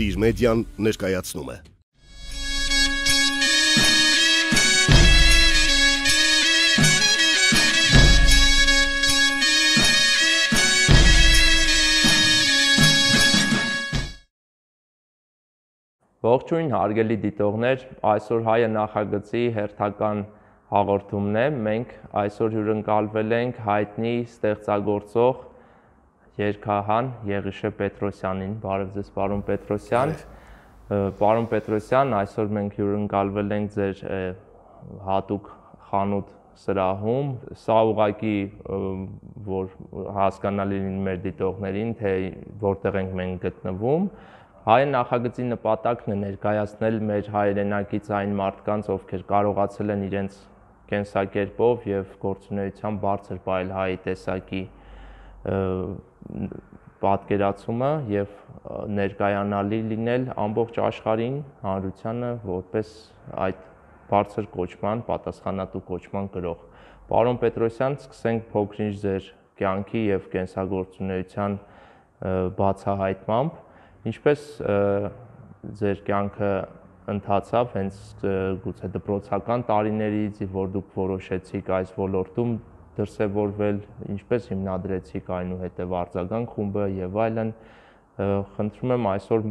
Տիր մեդիան ներկայացնում է։ Ողջույն հարգելի դիտողներ, այսօր հայը նախագծի հերթական հաղորդումն է, մենք այսօր հյուրընկալվել ենք հայտնի ստեղծագործող երգահան Եղիշե Պետրոսյանին, բարև ձեզ պարոն Պետրոսյան, պարոն Պետրոսյան, այսօր մենք հյուրընկալվել ենք ձեր հատուկ խանութ սրահում, սա ուղղակի որ հասկանալի լինի մեր դիտողներին, թե որտեղ ենք մենք գտնվում, Հայ նախագծի նպատակն է ներկայացնել մեր հայրենակից այն մարդկանց, ովքեր կարողացել են իրենց կենսակերպով եւ գործունեությամբ բարձր պահել հայի տեսակի պատկերացումը եւ ներկայանալի լինել ամբողջ աշխարհին, հանրությանը որպես այդ բարձր կոչման, պատասխանատու կոչման կրող։ Պարոն Պետրոսյան, սկսենք փոքրինչ ձեր կյանքի եւ կենսագործունեության բացահայտմամբ Ինչպես ձեր կյանքը ընթացավ հենց գուցե դպրոցական տարիներից, որ դուք որոշեցիք այս ոլորտում դրսևորվել, ինչպես հիմնադրեցիք այնուհետև արձագանք խումբը եւ այլն, խնդրում եմ այսօր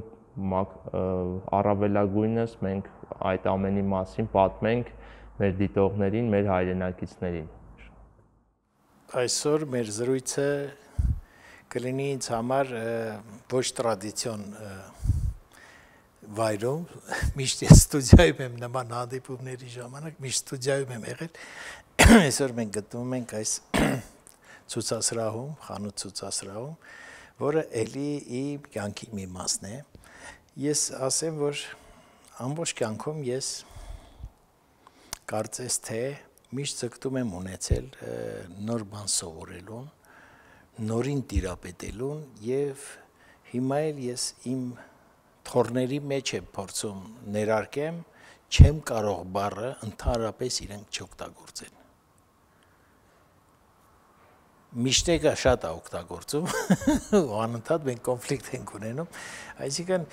առավելագույնս մենք այդ ամենի մասին պատմենք մեր դիտողներին, մեր հայրենակիցներին։ Այսօր մեր զրույցը կլինի ինձ համար ոչ տրադիցիոն վայրում, միշտ ես ստուդիայում եմ նման հանդիպումների ժամանակ, միշտ ստուդիայում եմ եղել, այսօր մենք գտնվում ենք այս ցուցասրահում, խանութ ցուցասրահում, որը էլի իմ կյանքի մի մասն է, ես ասեմ, որ ամբողջ կյանքում ես կարծես թե միշտ ձգտում եմ ունեցել նոր բան սովորելուն, նորին տիրապետելուն եւ հիմա էլ ես իմ թորների մեջ եմ փորձում ներարկեմ չեմ կարող բառը ընդհանրապես իրենք չօգտագործեն միշտեկը շատ է օգտագործում ու անընդհատ մենք կոնֆլիկտ ենք ունենում այսինքն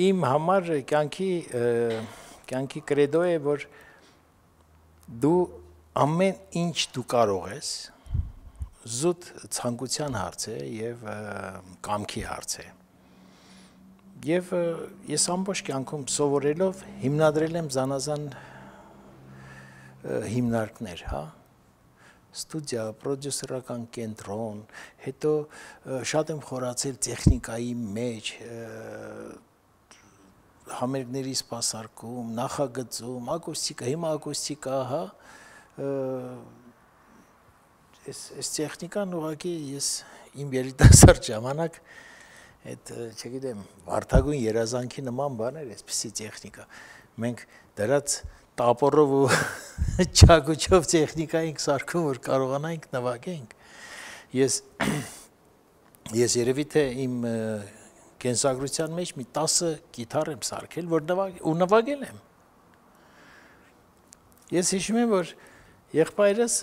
իմ համար կյանքի կրեդո է որ դու ամեն ինչ դու կարող ես զուտ ցանկության հարց է եւ կամքի հարց է եւ ես ամբողջ կյանքում սովորելով հիմնադրել եմ զանազան հիմնարկներ, հա ստուդիա, պրոդյուսերական կենտրոն, հետո շատ եմ խորացել տեխնիկայի մեջ, համերգների սպասարկում, նախագծում, ակուստիկա, հիմա ակուստիկա, հա Այս տեխնիկան ուղղակի ես իմ երիտասարդ ժամանակ այդ չգիտեմ վարդագույն երազանքի նման բաներ այսպիսի տեխնիկա մենք դրած տապորով ու չակուչով տեխնիկա ենք սարքում որ կարողանանք նվագենք ես երևի թե իմ կենսագրության մեջ մի 10 գիտար եմ սարքել որ նվագել եմ ես հիշում եմ որ Եղբայրս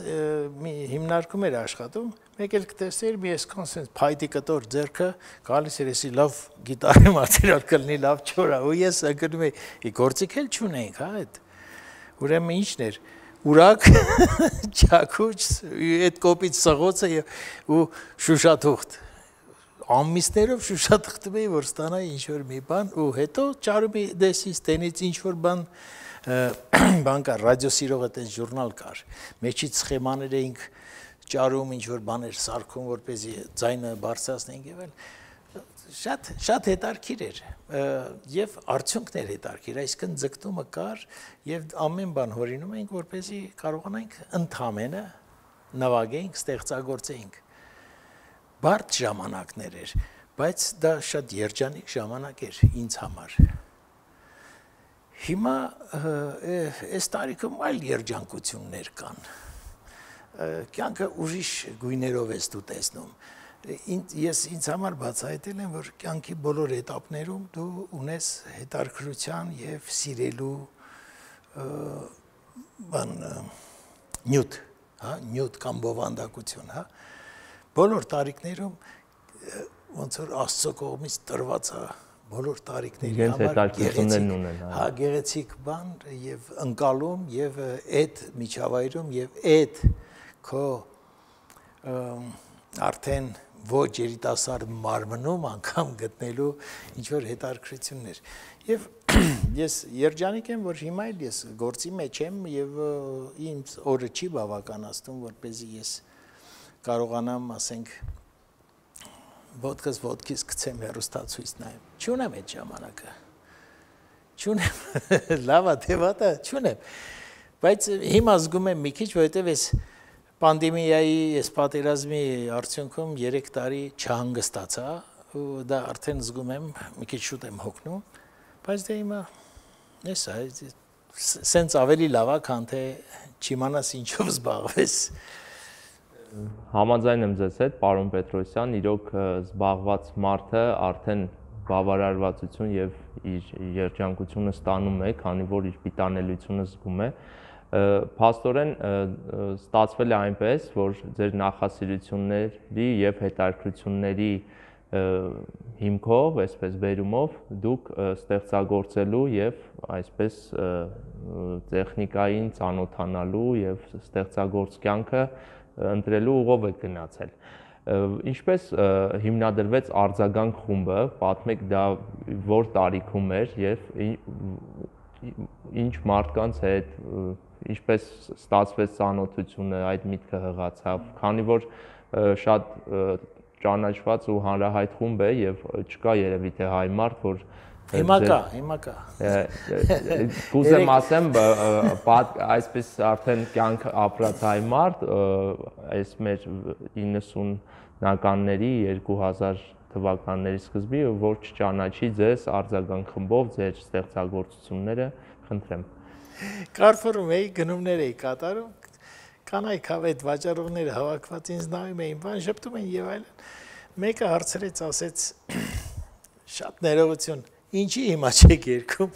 մի հիմնարկում էր աշխատում, մեկ էլ կտեսներ մի այսքան սենց փայտի կտոր ձեռքը գալիս էր էսի լավ գիտարի մատերիալ կլինի լավ չորա ու ես ընկնում էի գործիք էլ չունեինք հա այդ ուրեմն ինչն էր ուրակ չակուչ այդ կոպիտ սղոցը ու շուշաթուղթ ամիսներով շուշաթղթում էի որ ստանայի ինչ որ մի բան ու հետո ճարումի դեսից տենից ինչ որ բան կար, ռադիոսիրող այդպես ժուրնալ կար, մեջից սխեմաներ էինք ճարում, ինչ-որ բաներ սարքում, որպեսզի ձայնը բարձրացնենք եւ այլ, շատ հետարքիր էր եւ արդյունքներ հետարքիր, այսինքն ձգտումը կար եւ ամեն բան հորինում էինք, որպեսզի կարողանանք ընդհանրապես նվագենք, ստեղծագործենք։ Բարդ ժամանակներ էր, բայց դա շատ երջանիկ ժամանակ էր ինձ համար։ Հիմա այս տարիքում այլ երջանկություններ կան, կյանքը ուրիշ գույներով ես դու տեսնում, ես ինձ համար բացահայտել եմ, որ կյանքի բոլոր էտապներում դու ունես հետաքրքրության և սիրելու նյութ կամ բովանդակություն, բոլոր տարիքներում ոնց որ Աստծո կողմից տրված է բոլոր տարիքների համար գեղեցիկ բան եւ ընկալում եւ այդ միջավայրում եւ այդ քո արդեն ոչ երիտասարդ մարմնում անգամ գտնելու ինչ որ հետաքրքրություններ եւ ես երջանիկ եմ որ հիմա էլ ես գործի մեջ եմ եւ ինձ օրը չի բավականացնում որպեսզի ես կարողանամ ասենք ոտքից գցեմ հեռուստացույց նայեմ չունեմ այդ ժամանակը չունեմ լավա թե վատա չունեմ բայց հիմա զգում եմ մի քիչ որովհետեւ ես Պանդեմիայի այս պատերազմի արդյունքում 3 տարի չհանգստացա ու դա արդեն զգում եմ մի քիչ շուտ եմ հոգնում բայց դե հիմա էսա սենց ավելի լավ է քան թե չիմանաս ինչով զբաղվես Համաձայն եմ ձեզ հետ պարոն Պետրոսյան իրոք զբաղված մարդը արդեն բավարարվածություն եւ իր երջանկությունը ստանում է քանի որ իր պիտանելիությունը զգում է Փաստորեն ստացվել է այնպես, որ ձեր նախասիրությունների եւ հետաքրքրությունների հիմքով, այսպես բերումով դուք ստեղծագործելու եւ այսպես տեխնիկային ծանոթանալու եւ ստեղծագործ կյանքը ընտրելու ուղով եք գնացել։ Ինչպես հիմնադրվեց արձագանք խումբը, պատմեք դա որ տարիքում էր եւ ինչ մարդկանց հետ ինչպես ստացվեց ծանոթությունը, այդ միտքը հղացավ, քանի որ շատ ճանաչված ու հանրահայտ խումբ է եւ չկա երևի թե հայ մարդ, որ Հիմա կա։ Կուզեմ ասեմ, այսպես արդեն կյանք ապրած հայ մարդ, այս մեր 90-ականների 2000 թվականների սկզբի, որ չճանաչի ձեզ արձագանք խմբով ձեր ստեղծագործությունները, խնդրեմ։ Կարֆորում էի, գնումներ էի կատարում, կանայք այդ վաճառողները հավաքված ինձ նայում էին, բան շփթում էին եւ այլն։ Մեկը հարցրեց, ասեց. «Շատ ներողություն, ինչի հիմա չեք երգում»։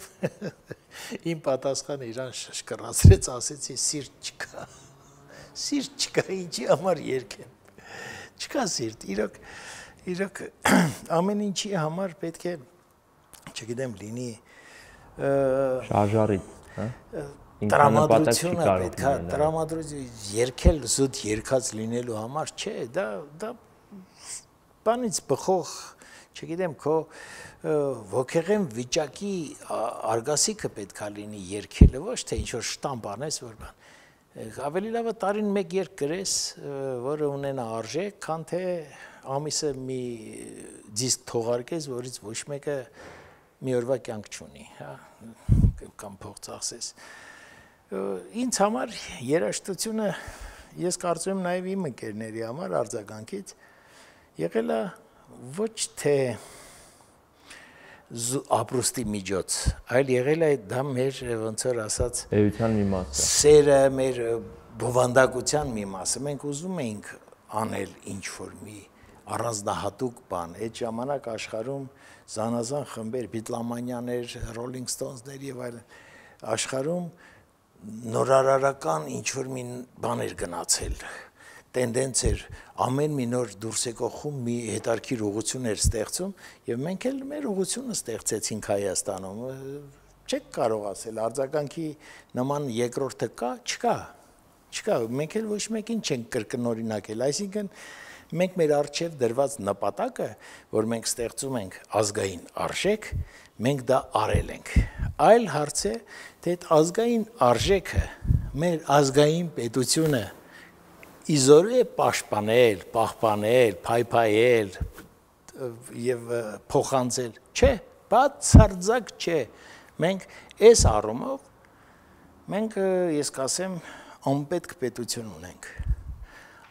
Իմ պատասխանը իրան շշկռացրեց, ասեցի՝ «Սիրտ չկա»։ Սիրտ չկա, ինչի համար երգեմ։ Չկա սիրտ, իրոք ամեն ինչի համար պետք է, չգիտեմ, լինի շարժարիտ տրամադրությունը պետք է տրամադրություն երգել զուտ երգած լինելու համար չէ դա բանից բխող չգիտեմ քո ոգեղեն վիճակի արգասիքը պետք է լինի երգելը ոչ թե ինչ որ շտամպ անես որ բան ավելի լավ է տարին մեկ երգ գրես որը ունենա արժեք քան թե ամիսը մի դիսկ թողարկես որից ոչ մեկը մի օրվա կյանք չունի, հա, կամ փող ծախսես։ Ինձ համար երաժշտությունը ես կարծում եմ նաև իմ ընկերների համար արձագանքից եղել է ոչ թե ապրուստի միջոց, այլ եղել է դա մեր ոնց որ ասած էության մի մասը։ Սերը մեր բովանդակության մի մասը։ Մենք ուզում էինք անել ինչ որ մի առանձնահատուկ բան։ Այդ ժամանակ աշխարհում զանազան խմբեր, Բիթլամանյաներ, Rolling Stones-ներ եւ այլն աշխարհում նորարարական ինչ որ մի բան էր գնացել, տենդենց էր, ամեն մի նոր դուրս եկող խումբ մի հետարքիր ուղղություն էր ստեղծում եւ մենք էլ մեր ուղղությունը ստեղծեցինք Հայաստանում։ Չեք կարող ասել արձագանքի նման երկրորդը կա, չկա, մենք էլ ոչ մեկին չենք կրկնօրինակել, այսինքն մենք մեր արժև դրված նպատակը, որ մենք ստեղծում ենք ազգային արժեք, մենք դա արել ենք։ Այլ հարց է, թե այդ ազգային արժեքը, մեր ազգային պետությունը իզորու է պաշտպանել, պահպանել, փայփայել եւ փոխանցել։ Չէ, բացարձակ չէ։ Մենք այս առումով մենք ես կասեմ անպետք պետություն ունենք։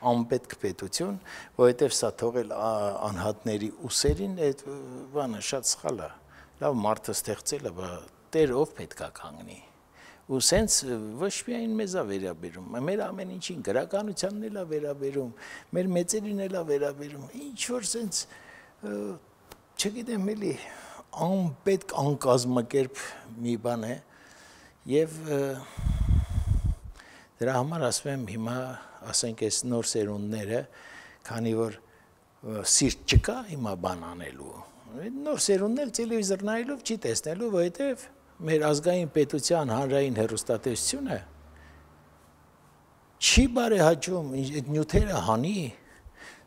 Անպետք պետություն, որովհետև սա թողել անհատների ուսերին, այդ բանը շատ սխալ է։ Լավ մարդը ստեղծել է, բայց Տեր ով պետք է կանգնի։ Ու սենց ոչ միայն մեզ է վերաբերում, մեր ամեն ինչին գրականությանն էլ է վերաբերում, մեր մեծերին էլ է վերաբերում։ Ինչ որ սենց չգիտեմ էլի անպետք անկազմակերպ մի բան է եւ դրա համար ասում եմ հիմա ասենք այս նոր սերունդները, քանի որ սիրտ չկա հիմա բան անելու, նոր սերունդն էլ տելևիզոր նայելով չի տեսնելու, որովհետև մեր ազգային պետության հանրային հեռուստատեսությունը չի բարեհաճում այդ նյութերը հանի,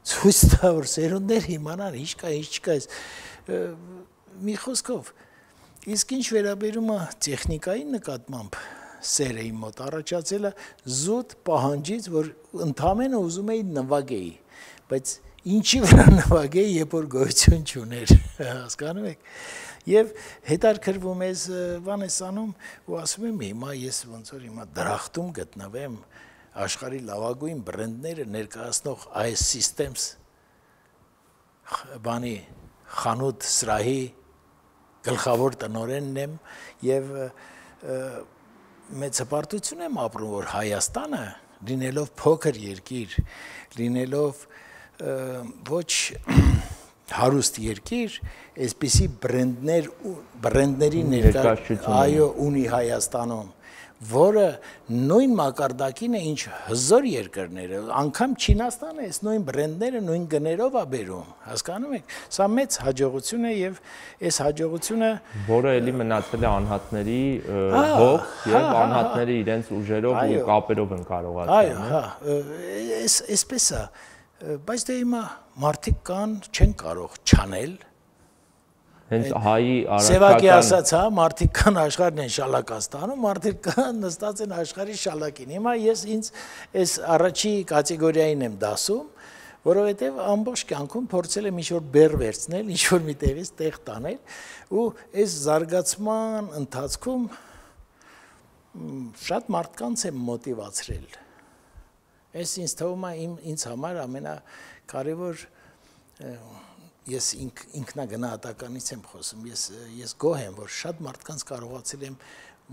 ցույց տա, որ սերունդներ իմանան ինչ կա, ինչ չկա, մի խոսքով, իսկ ինչ վերաբերում է տեխնիկային նկատմամբ սերը իմ մոտ առաջացել է զուտ պահանջից, որ ընդամենը ուզում էի նվագեի, բայց ինչի վրա նվագեի, երբ որ գոյություն չուներ, հասկանում եք, եւ հետարքրվում ես բան ես անում ու ասում եմ հիմա ես ոնց որ հիմա դրախտում գտնվեմ աշխարհի լավագույն բրենդները ներկայացնող այս Systems բանի խանութ սրահի գլխավոր տնօրենն եմ եւ մեծ հպարտություն եմ ապրում որ Հայաստանը լինելով փոքր երկիր լինելով ոչ հարուստ երկիր այսպիսի բրենդների ներկայացում այո ունի Հայաստանում որը նույն մակարդակին է ինչ հզոր երկրները անգամ Չինաստանը այս նույն բրենդները նույն գներով է բերում հասկանում եք սա մեծ հաջողություն է եւ այս հաջողությունը որը էլի մնացել է անհատների հող եւ անհատների իրենց ուժերով ու կապերով են կարողացել այո այսպես է բայց դե հիմա մարդիկ կան չեն կարող չանել հենց հայի Սևակի ասած հա մարդիկ կան աշխարհն են շալակաստանում մարդիկ կան նստած են աշխարհի շալակին հիմա ես ինձ այս առաջի կատեգորիային եմ դասում որովհետև ամբողջ կյանքում փորձել եմ ինչ-որ բեր վերցնել ինչ-որ մի տեղից տեղ տանել ու այս զարգացման ընթացքում շատ մարդկանց եմ մոտիվացրել այս ինձ թվում է ինձ համար ամենակարևոր ես ինքնագնահատականից եմ խոսում ես գոհ եմ որ շատ մարդկանց կարողացել եմ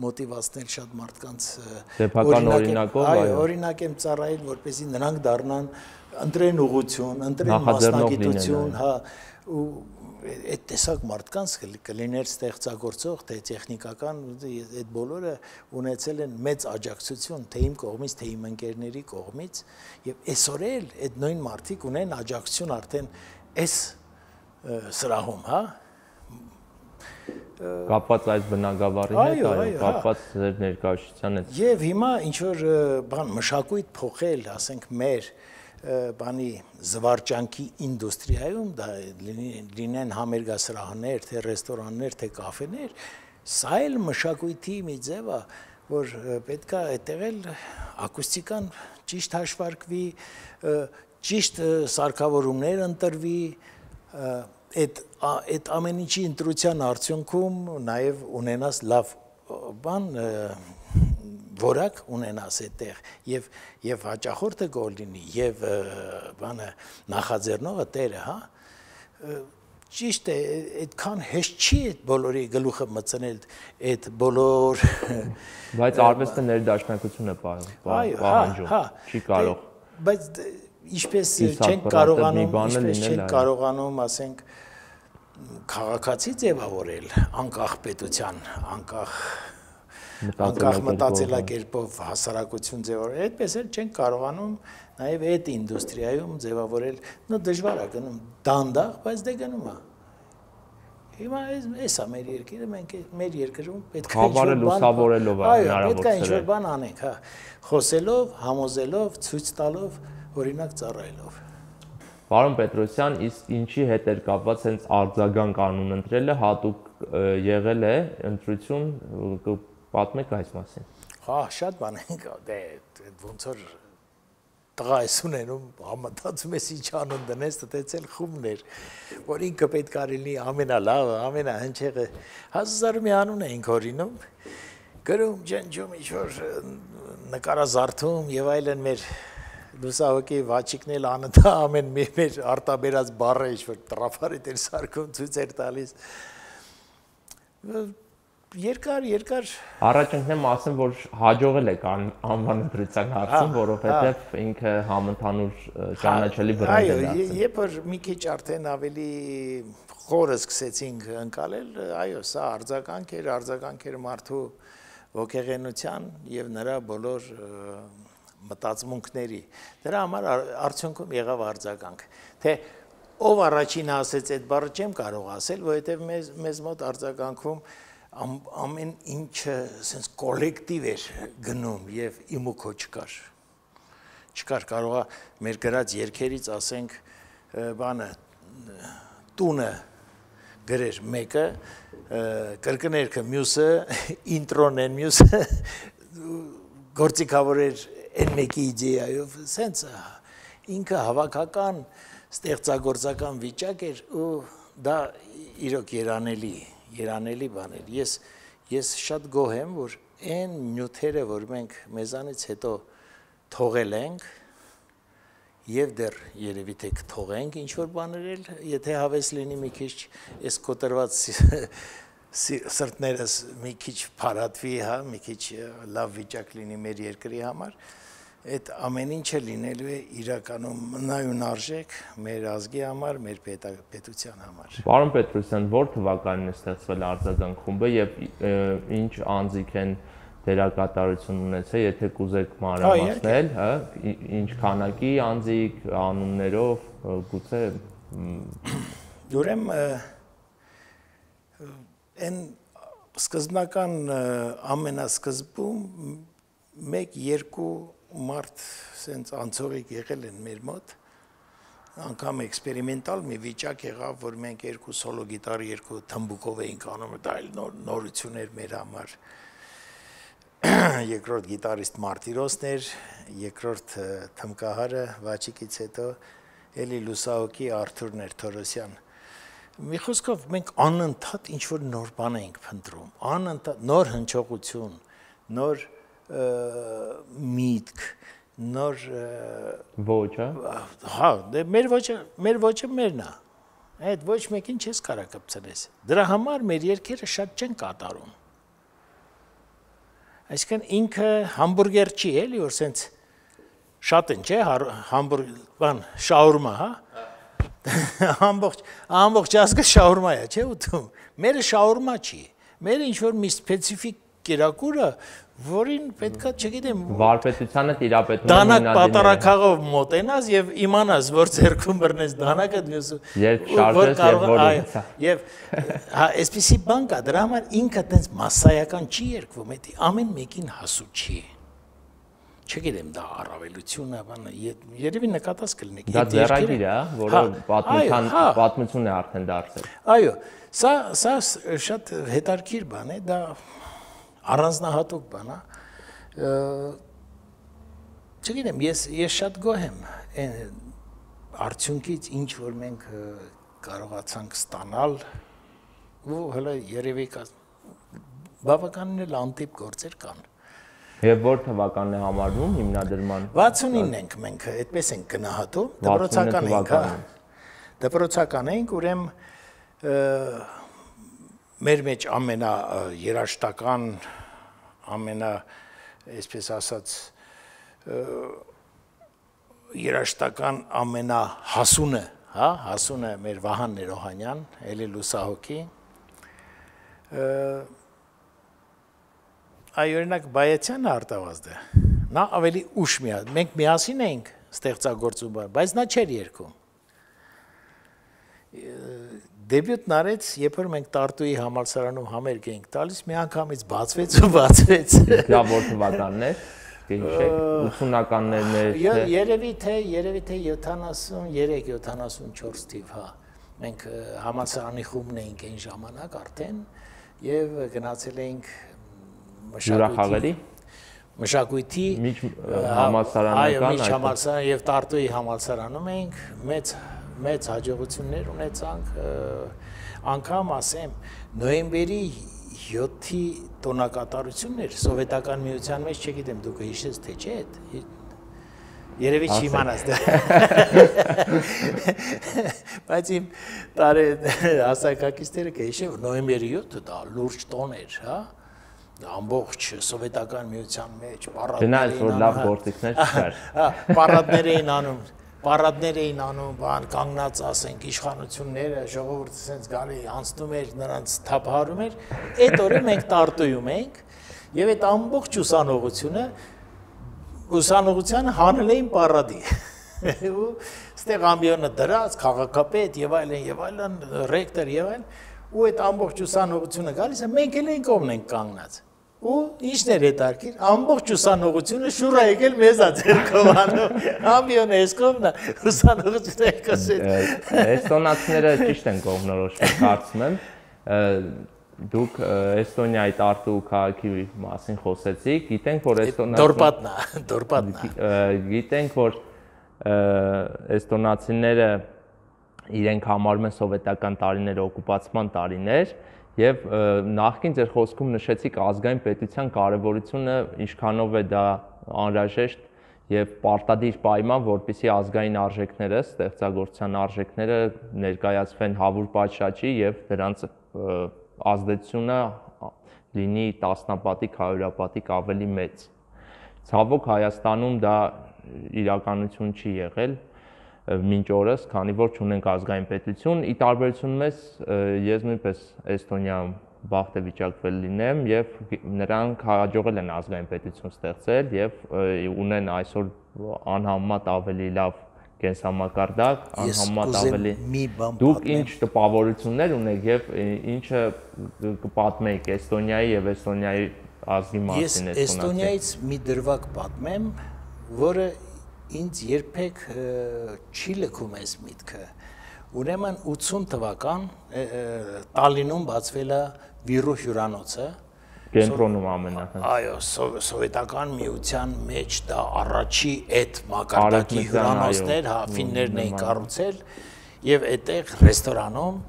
մոտիվացնել շատ մարդկանց սեփական օրինակով այո օրինակ եմ ծառայել որպեսզի նրանք դառնան ընտրեն ուղղություն ընտրեն մասնագիտություն հա ու այդ տեսակ մարդկանց կլիներ ստեղծագործող թե տեխնիկական այդ բոլորը ունեցել են մեծ աջակցություն թե իմ կողմից թե իմ ընկերների կողմից եւ այսօր էլ այդ նույն մարդիկ ունեն աջակցություն արդեն այս սրահում, հա կապված այս բնագավառի հետ, այո, կապված ձեր ներկայացության հետ։ Եվ հիմա ինչ որ բան մշակույթ փոխել, ասենք մեր բանի զվարճանքի ինդուստրիայում դա լինեն համերգասրահներ, թե ռեստորաններ, թե կաֆեներ, սա էլ մշակույթի մի ձև է, որ պետք է այդտեղ էլ ակուստիկան ճիշտ հաշվարկվի, ճիշտ սարքավորումներ ընտրվի, այդ ամեն ինչի ընտրության արդյունքում նաև ունենաս լավ բան որակ ունենաս այդտեղ եւ հաճախորդը գոհ լինի եւ բանը նախաձեռնողը տերը հա ճիշտ է այդքան հեշտ չի այդ բոլորի գլուխը մտցնել այդ բոլոր բայց արվեստը ներդաշնակություն է պահանջում չի կարող բայց ինչպես չենք կարողանում ասենք քաղաքացի ձևավորել անկախ պետության անկախ մտածելակերպով հասարակություն ձևավորել այդպես էլ չենք կարողանում նաև այդ ինդուստրիայում ձևավորել նո դժվար է գնում դանդաղ բայց դե գնում է հիմա էսա մեր երկիրը մենք մեր երկրում պետք է ինչ-որ լուսավորելով հնարավոր պետք է ինչ-որ բան անենք հա խոսելով համոզելով ցույց տալով օրինակ ծառայելով Պարոն Պետրոսյան, իսկ ինչի հետ էր կապված հենց արձագանք կանուն ընտրելը հատուկ եղել է ընտրություն պատմեք այս մասին։ Հա, շատ բան ենք, դե ոնց որ տղա ես ունենում, համատացում ես ինչ անուն դնես, տտեցել խումներ, որ ինքը պետք է լինի ամենալավը, ամենահնչեղը, 1000 մի անուն էինք օրինում, գրում, ջնջում, ինչ-որ նկարազարդում եւ այլն մեր լուսահոգի վաչիկն էլ անընդհատ ամեն մեր արտաբերած բառը ինչ-որ տրաֆարիտ էր սարքում ցույց էր տալիս երկար առաջընկնեմ ասեմ որ հաջողել եք անվան ընտրության հարցում որովհետև ինքը համընդհանուր ճանաչելի բրենդ է դարձել երբ որ մի քիչ արդեն ավելի խորը սկսեցինք ընկալել այո սա արձագանք էր մարդու ոգեղենության եւ նրա բոլոր մտածմունքների դրա համար արդյունքում եղավ արձագանք թե ով առաջինը ասեց այդ բառը չեմ կարող ասել, որովհետև մեզ մոտ արձագանքում ամեն ինչը sense կոլեկտիվ էր գնում եւ իմ ու քո չկար կարողա մեր գրած երգերից ասենք բանը տունը գրեր մեկը կրկներքը մյուսը ինտրոն են մյուսը գործիքավոր էր այն մեկի իդեայով sense ինքը հավաքական ստեղծագործական վիճակ էր ու դա իրոք երանելի բան էր ես շատ գոհ եմ որ այն նյութերը որ մենք մեզանից հետո թողել ենք եւ դեռ երևի թե կթողենք ինչ որ բաներ էլ եթե հավես լինի մի քիչ այս կոտրված սրտներս մի քիչ փարատվի հա մի քիչ լավ վիճակ լինի մեր երկրի համար այդ ամեն ինչը լինելու է իրականում մնայուն արժեք մեր ազգի համար, մեր պետության համար։ Պարոն Պետրոսյան, որ թվականին է ստեղծվել արձագանք խումբը եւ ինչ անձիկ են դերակատարություն ունեցել, եթե կուզեք մանրամասնել, հա, ինչ քանակի անձիկ, անուններով, գուցե ուրեմն այն սկզբնական ամենասկզբում 1-2 մարդ sense անցողիկ եղել են մեր մոտ անգամ էքսպերիմենտալ մի վիճակ եղավ որ մենք 2 սոլո գիտար 2 թմբուկով էինք անում դա այլ նորություն էր մեր համար երկրորդ գիտարիստ Մարտիրոսն էր երկրորդ թմկահարը Վաչիկից հետո էլի լուսահոգի Արթուր Ներթորոսյան մի խոսքով մենք անընդհատ ինչ որ նոր բան ենք փնտրում անընդհատ նոր հնչողություն նոր միտք նոր ոճը հա դե մեր ոճը մերն է այդ ոչ մեկին չես կարա կպցնես դրա համար մեր երկերը շատ չեն կատարում այսինքն ինքը համբուրգեր չի էլի որ սենց շատ են չէ բան շաուրմա հա ամբողջ ազգը շաուրմա է չէ ուտում մերը շաուրմա չի մերը ինչ որ մի սպეციფიկ կերակուրը որին պետքա չգիտեմ վարպետությանը տիրապետում դանակ պատարակաղով մոտենաս եւ իմանաս որ ձերքում բռնես դանակը երբ շարժես եւ որը եւ հա այսպեսի բան կա դրա համար ինքը տենց massայական չի երկվում էդ ամեն մեկին հասու չի չգիտեմ դա առավելություն է բանը երևի նկատած կլինեք դա ձեռագիր է որը պատմություն է արդեն դարձել այո սա շատ հետաքրքիր բան է դա առանձնահատուկ բան է չգիտեմ ես շատ գոհ եմ արդյունքից ինչ որ մենք կարողացանք ստանալ ու հələ երևի բավականին էլ անտիպ գործեր կան եւ որ թվականն է համարվում հիմնադրման 69 ենք մենք այդպես ենք գնահատում դպրոցական ենք ուրեմն մեր մեջ ամենա երաշտական ամենա այսպես ասած երաշտական ամենա հասունը հա հասունը մեր Վահան Ներոհանյան էլի լուսահոգի այ օրինակ Բայեցյանը արտավազդը նա ավելի ուշ մենք միասին էինք ստեղծագործում բայց նա չէր երգում դեբյուտն արեց, երբ որ մենք Տարտուի համալսարանում համերգ էինք տալիս, մի անգամից բացվեց ու բացվեց։ Դա որ թվականն է, կհիշեք, 80-ականներն է։ Երևի թե 73-74 թիվ, հա։ Մենք համալսարանի խումբն էինք այն ժամանակ արդեն եւ գնացել էինք մշակույթի համալսարանական այո, համալսարան եւ Տարտուի համալսարանում էինք մեծ հաջողություններ ունեցանք անգամ ասեմ նոյեմբերի 7-ի տոնակատարություններ սովետական միության մեջ չգիտեմ դուք հիշես թե չէ երևի չիմանաս դա բայց իմ տարե հասակակիցները կհիշեն նոյեմբերի 7-ը դա լուրջ տոն էր հա ամբողջ սովետական միության մեջ պարադներ էին անում, բան կանգնած ասենք իշխանությունները, ժողովուրդը սենց գալի անցնում էր, նրանց թափահարում էր, այդ օրը մենք Տարտուում ենք եւ այդ ամբողջ ուսանողությանը հանել էին պարադի։ ու ստեղ ամբիոնը դրած, քաղաքապետ եւ այլն, ռեկտոր եւ այլն, ու այդ ամբողջ ուսանողությունը գալիս է, մենք էլ այն կողմն ենք կանգնած։ Ու ինչն էր հետաքրքիր, ամբողջ ուսանողությունը շուռ է եկել մեզ ածերքով անում, ամբիոնը այս կողմն է, ուսանողությունը եկոսեց։ Էստոնացիները ճիշտ են կողմնորոշվել, կարծում եմ, դուք Էստոնիայի Տարտու քաղաքի մասին խոսեցիք, գիտենք, որ գիտենք, որ էստոնացիները իրենք համարում են սովետական տարիները օկուպացման տարիներ, եւ նախքին ձեր խոսքում նշեցիք ազգային պետության կարեւորությունը, ինչքանով է դա անհրաժեշտ եւ պարտադիր պայման, որպեսզի ազգային արժեքները, ստեղծագործության արժեքները ներկայացվեն հավուր պատշաճի եւ դրանց ազդեցությունը լինի տասնապատիկ, հարյուրապատիկ ավելի մեծ։ Ցավոք Հայաստանում դա իրականություն չի եղել մինչ օրս, քանի որ չունենք ազգային պետություն, ի տարբերություն մեզ ես նույնպես Էստոնիայում բախտ է վիճակվել լինեմ եւ նրանք հաջողել են ազգային պետություն ստեղծել եւ ունեն այսօր անհամեմատ ավելի լավ կենսամակարդակ, անհամեմատ ավելի դուք ինչ տպավորություններ ունեք եւ ինչը կպատմեիք Էստոնիայի եւ Էստոնիայի ազգի մասին Ես Էստոնիայից մի դրվագ պատմեմ, որը ինձ երբեք չի լքում այս միտքը։ Ուրեմն 80 թվական Տալինում բացվել է Վիրու հյուրանոցը։ Կենտրոնում ամենախնդրը։ Այո, սովետական միության մեջ դա առաջի այդ մակարդակի հյուրանոցներ, հա, ֆիններն էին կառուցել եւ այդտեղ ռեստորանում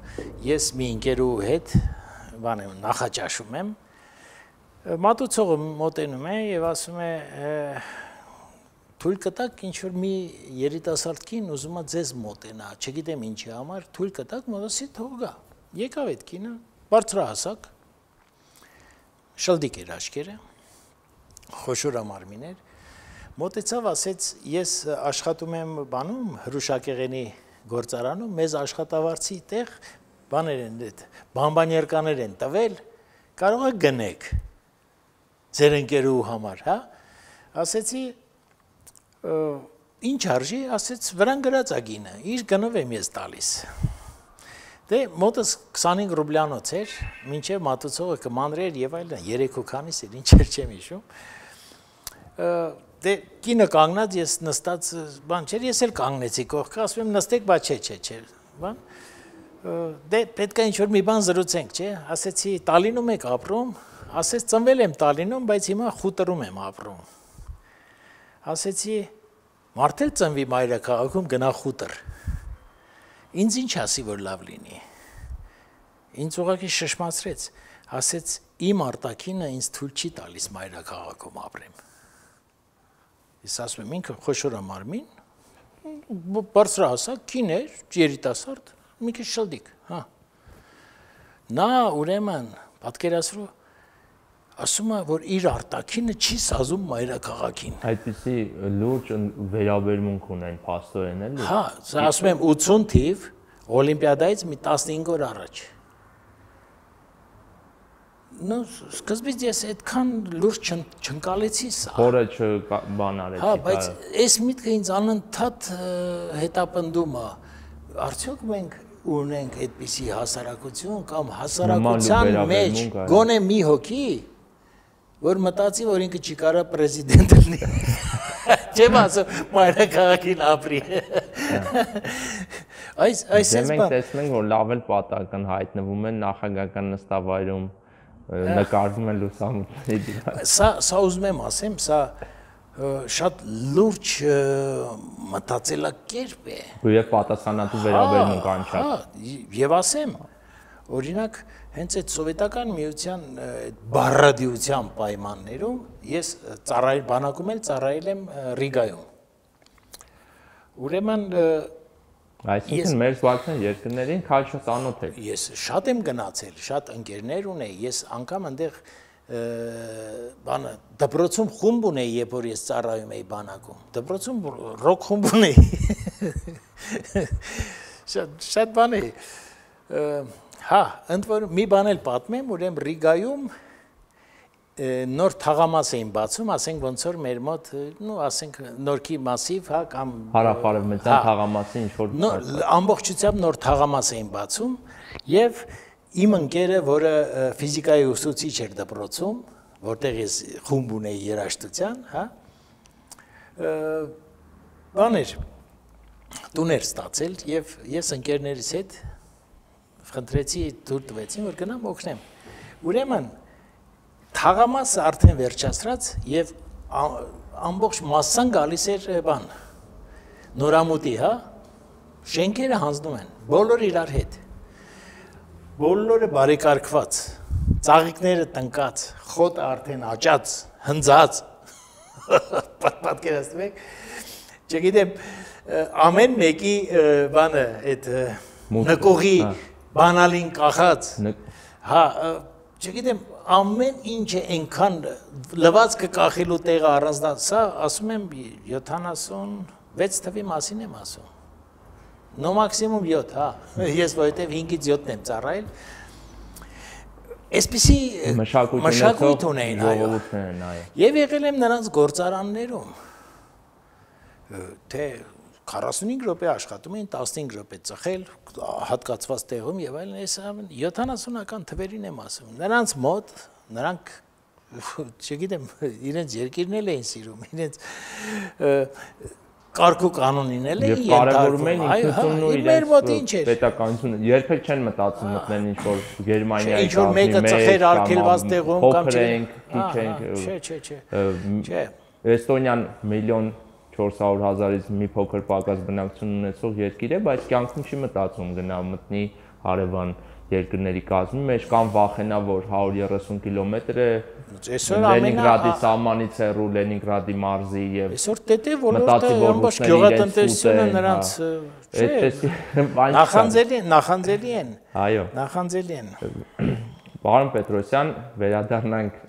ես մի ընկերու հետ նախաճաշում եմ։ Մատուցողը մոտենում է եւ ասում է թույլ կտակ ինչ-որ մի երիտասարդ կին ուզում է ձեզ մոտենա, չգիտեմ ինչի համար, թույլ կտակ մոտեցի թող գա։ Եկավ այդ կինը, բարձրահասակ, շլդիկ էր աչքերը, խոշոր մարմին էր, մոտեցավ, ասեց, ես աշխատում եմ բանում, հրուշակեղենի գործարանում, մեզ աշխատավարձի տեղ բաներ են, բամբանյերկաներ են տվել, կարող է գնեք, ձեր ընկերու համար, հա, ասեցի, ինչ արժի, ասեց, վրան գրած ագինը, իր գնով եմ ես տալիս։ Դե մոտս 25 ռուբլյանոց էր, մինչև մատուցողը կմանրեր եւ այլն, 3 ու քանիս էր, ինչ էր չեմ հիշում։ Դե կինը կանգնած, ես նստած բան չէր, ես էլ կանգնեցի կողքը, ասում եմ նստեք, բա չէ, բան։ Դե պետք է ինչ-որ մի բան զրուցենք, չէ, ասեցի Տալինում եք ապրում, ասեց ծնվել եմ Տալինում, բայց հիմա Խուտրում եմ ապրում։ Ասեցի, մարդ էլ ծնվի մայրաքաղաքում գնա Խուտր։ Ինձ ինչ ասի, որ լավ լինի։ Ինձ ուղղակի շշմացրեց, ասեց, իմ արտաքինը ինձ թույլ չի տալիս մայրաքաղաքում ապրեմ։ Ես ասում եմ, ինքը խոշոր մարմին, բարձրահասակ, կին էր, երիտասարդ, մի քիչ շլդիկ, հա։ Նա ուրեմն պատկերացրու ասում է, որ իր արտաքինը չի սազում մայրաքաղաքին։ Այդպիսի լուրջ վերաբերմունք ունեն փաստորեն էլի։ Հա, սա ասում եմ 80 թիվ օլիմպիադայից մի 15 օր առաջ։ Նո, սկզբից ես այդքան լուրջ չընկալեցի սա։ Խորը չբան արեցի։ Հա, բայց այս միտքը ինձ անընդհատ հետապնդում է։ Արդյոք մենք ունենք այդպիսի հասարակություն կամ հասարակության մեջ գոնե մի հոգի, որ մտածի, որ ինքը չի կարա պրեզիդենտ լինի։ Չեմ ասում, մայրաքաղաքին ապրի։ Այս մենք տեսնենք, որ լավ էլ պատահական հայտնվում են նախագահական նստավայրում, նկարվում են լուսամուտների։ Սա ուզում եմ ասեմ, սա շատ լուրջ մտածելակերպ է։ Եվ պատասխանատու վերաբերմունք անչափ։ Հա, եւ ասեմ, օրինակ հենց այդ սովետական միության բառադիության պայմաններում ես բանակում էլ ծառայել եմ Ռիգայում։ Ուրեմն այսինքն մեր զբաղեցնեն երկրներին քաջ ծանոթ եք։ Ես շատ եմ գնացել, շատ ընկերներ ունեի, ես անգամ այնտեղ բանը դպրոցում խումբ ունեի, երբ որ ես ծառայում էի բանակում։ Դպրոցում ռոք խումբ ունեի։ Շատ բան է։ Հա, ընդ որում մի բան էլ պատմեմ, ուրեմն Ռիգայում նոր թաղամաս էին բացում, ասենք ոնց որ մեր մոտ, ասենք նորքի մասիվ, հա, կամ հարավարևմտյան թաղամասի ինչ որ ամբողջությամբ նոր թաղամաս էին բացում եւ իմ ընկերը, որը ֆիզիկայի ուսուցիչ էր դպրոցում, որտեղ ես խումբ ունեի երաժշտության, հա, բաներ տուներ ստացել եւ ես ընկերներիս հետ խնդրեցի դուր տվեցին, որ գնամ օգնեմ։ Ուրեմն թաղամասը արդեն վերջացրած եւ ամբողջ մասսան գալիս էր բան նորամուտի, հա, շենքերը հանձնում են, բոլորը իրար հետ, բոլորը բարեկարգված, ծաղիկները տնկած, խոտը արդեն աճած, հնձած, պատկերացնում եք, չգիտեմ, ամեն մեկի բանը, այդ նկողի բանալին կախած, հա, չգիտեմ, ամեն ինչը այնքան լվացքը կախելու տեղը առանձնած, սա ասում եմ 76 թվի մասին եմ ասում, նո մաքսիմում 7, հա, ես որովհետև 5-ից 7-ն եմ ծառայել, այսպիսի մշակույթ ունեին, եւ եղել եմ նրանց գործարաններում, թե 45 րոպե աշխատում էին, 15 րոպե ծխել, հատկացված տեղում եւ այլն, այս 70-ական թվերին եմ ասում։ Նրանց մոտ, նրանք, չգիտեմ, իրենց երկիրն էլ էին սիրում, իրենց կարգ ու կանոնին էլ էին կարևորում են ինքնությունն ու իրենց պետականությունը։ Երբեք չեն մտածում մտնել ինչ-որ Գերմանիայի ինչ-որ մեկը ծխեր արգելված տեղում կամ չէ։ Էստոնիան 1,400,000-ից մի փոքր պակաս բնակչություն ունեցող երկիր է, բայց կյանքում չի մտածում գնա մտնի հարևան երկրների կազմի մեջ կամ վախենա, որ 130 կիլոմետր է Լենինգրադի սահմանից հեռու Լենինգրադի մարզի եւ այսօր դե ոլորտը ամբողջ գյուղատնտեսությունը նրանց նախանձելի են։ Այո։ Նախանձելի են։ Պարոն Պետրոսյան, վերադառնանք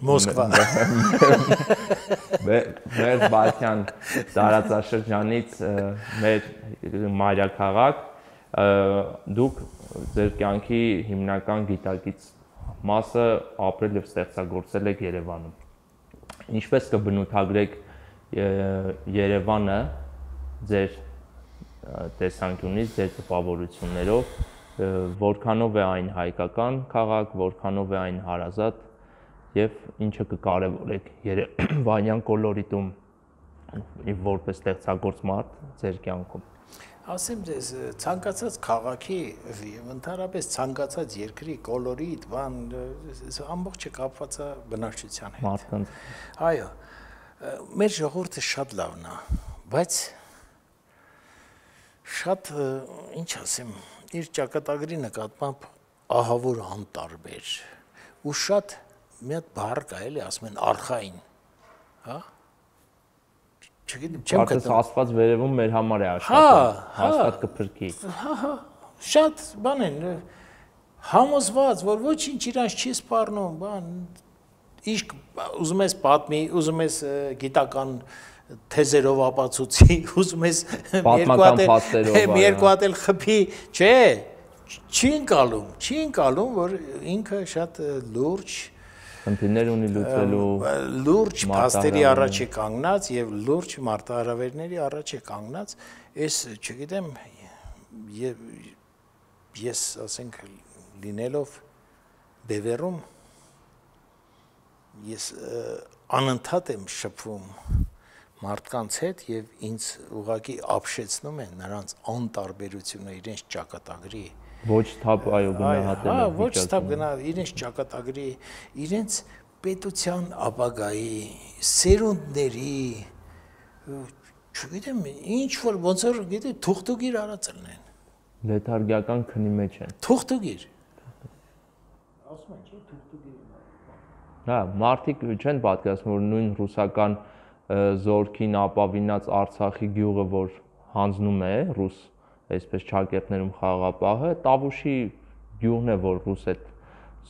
Մոսկվա։ Մեր Բալթյան տարածաշրջանից մեր մայրաքաղաք, դուք ձեր կյանքի հիմնական գիտակից մասը ապրել եւ ստեղծագործել եք Երևանում։ Ինչպես կբնութագրեք Երևանը ձեր տեսանկյունից, ձեր տպավորություններով, որքանով է այն հայկական քաղաք, որքանով է այն հարազատ եւ ինչը կկարևորեք Երևանյան կոլորիտում որպես ստեղծագործ մարդ ձեր կյանքում։ Ասեմ ձեզ, ցանկացած քաղաքի եւ ընդհանրապես ցանկացած երկրի կոլորիտ, բան, ամբողջը կապված է բնակչության հետ։ Մարդկանց։ Այո, մեր ժողովուրդը շատ լավն է, բայց շատ, ինչ ասեմ, իր ճակատագրի նկատմամբ ահավոր անտարբեր ու շատ մի հատ բառ կա էլի, ասում են արխային, հա? Չգիտեմ, չեմ գտնում։ Աստված վերևում մեր համար է աշխատում, հաստատ կփրկի։ Հա, շատ բան են, համոզված, որ ոչինչ իրանց չի սպառնում, բան, իսկ ուզում ես պատմի, ուզում ես գիտական թեզերով ապացուցի, ուզում ես երկու հատ էլ խփի, չէ, չի ընկալում, որ ինքը շատ լուրջ խնդիրներ ունի լուծելու լուրջ փաստերի առաջ է կանգնած եւ լուրջ մարտահրավերների առաջ է կանգնած, այս չգիտեմ ես ասենք լինելով Բևերում ես անընդհատ եմ շփվում մարդկանց հետ եւ ինձ ուղղակի ապշեցնում են նրանց անտարբերությունը իրենց ճակատագրի ոչ թափ այո գնահատել։ Հա, ոչ թափ գնա իրենց ճակատագրի, իրենց պետության ապագայի, սերունդների, չգիտեմ, ինչ որ ոնց որ գիտի թուղթուգիր արածելն են։ Լեթարգիական քնի մեջ են։ Թուղթուգիր։ Ասում են, չէ, թուղթուգիր։ Հա, մարդիկ չեն պատկերացնում, որ նույն ռուսական զորքին ապավինած Արցախի գյուղը, որ հանձնում է ռուս այսպես ճակերտներում խաղապահը, Տավուշի գյուղն է, որ ռուս այդ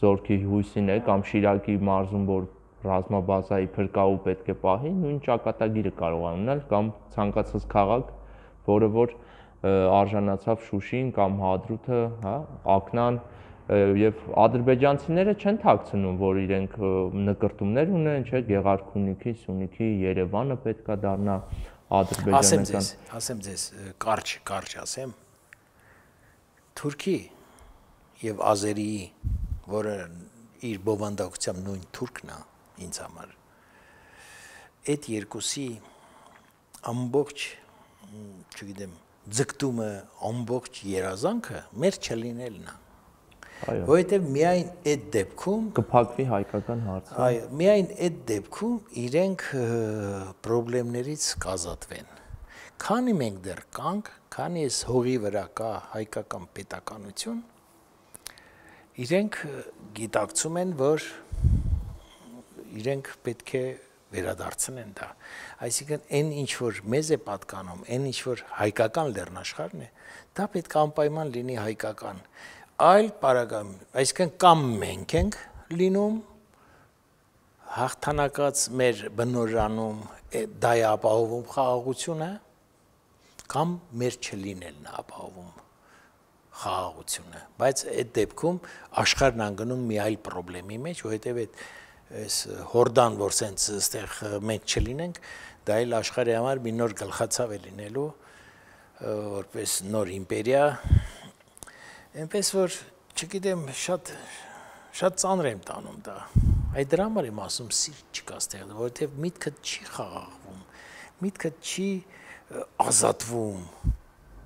զորքի հույսին է, կամ Շիրակի մարզում, որ ռազմաբազայի փրկաու պետք է պահի, նույն ճակատագիրը կարող է ունենալ, կամ ցանկացած քաղաք, որը որ արժանացավ Շուշին կամ Հադրութը, հա, Ակնան, եւ ադրբեջանցիները չեն թաքցնում, որ իրենք նկրտումներ ունեն, չէ, Գեղարքունիքի, Սյունիքի, Երևանը պետքա դառնա ադրբեջանական։ Ասեմ ձեզ, կարճ ասեմ։ Թուրքի եւ Ազերիի, որը իր բովանդակությամբ նույն թուրքն է ինձ համար, այդ երկուսի ամբողջ, չգիտեմ, ձգտումը, ամբողջ երազանքը մեր չլինելն է։ Որովհետև միայն այդ դեպքում կփակվի հայկական հարցը։ Այո, միայն այդ դեպքում իրենք խնդիրներից կազատվեն։ Քանի մենք դեռ կանք, քանի այս հողի վրա կա հայկական պետականություն, իրենք գիտակցում են, որ իրենք պետք է վերադարձնեն դա։ Այսինքն այն ինչ որ մեզ է պատկանում, այն ինչ որ հայկական լեռնաշխարհն է, դա պետք է անպայման լինի հայկական։ Այլ պարագայում, այսինքն կամ մենք ենք լինում հաղթանակած մեր բնորանում դա է ապահովում խաղաղությունը, կամ մեր չլինելն է ապահովում խաղաղությունը, բայց այդ դեպքում աշխարհն անգնում մի այլ խնդրի մեջ, որովհետև այս հորդան, որ սենց այստեղ մենք չլինենք, դա էլ աշխարհի համար մի նոր գլխացավ է լինելու, որպես նոր իմպերիա, այնպես որ չգիտեմ, շատ ծանր եմ տանում դա։ Այդ դրա համար եմ ասում սիրտ չկա այստեղ, որովհետև միտքդ չի խաղաղվում, միտքդ չի ազատվում։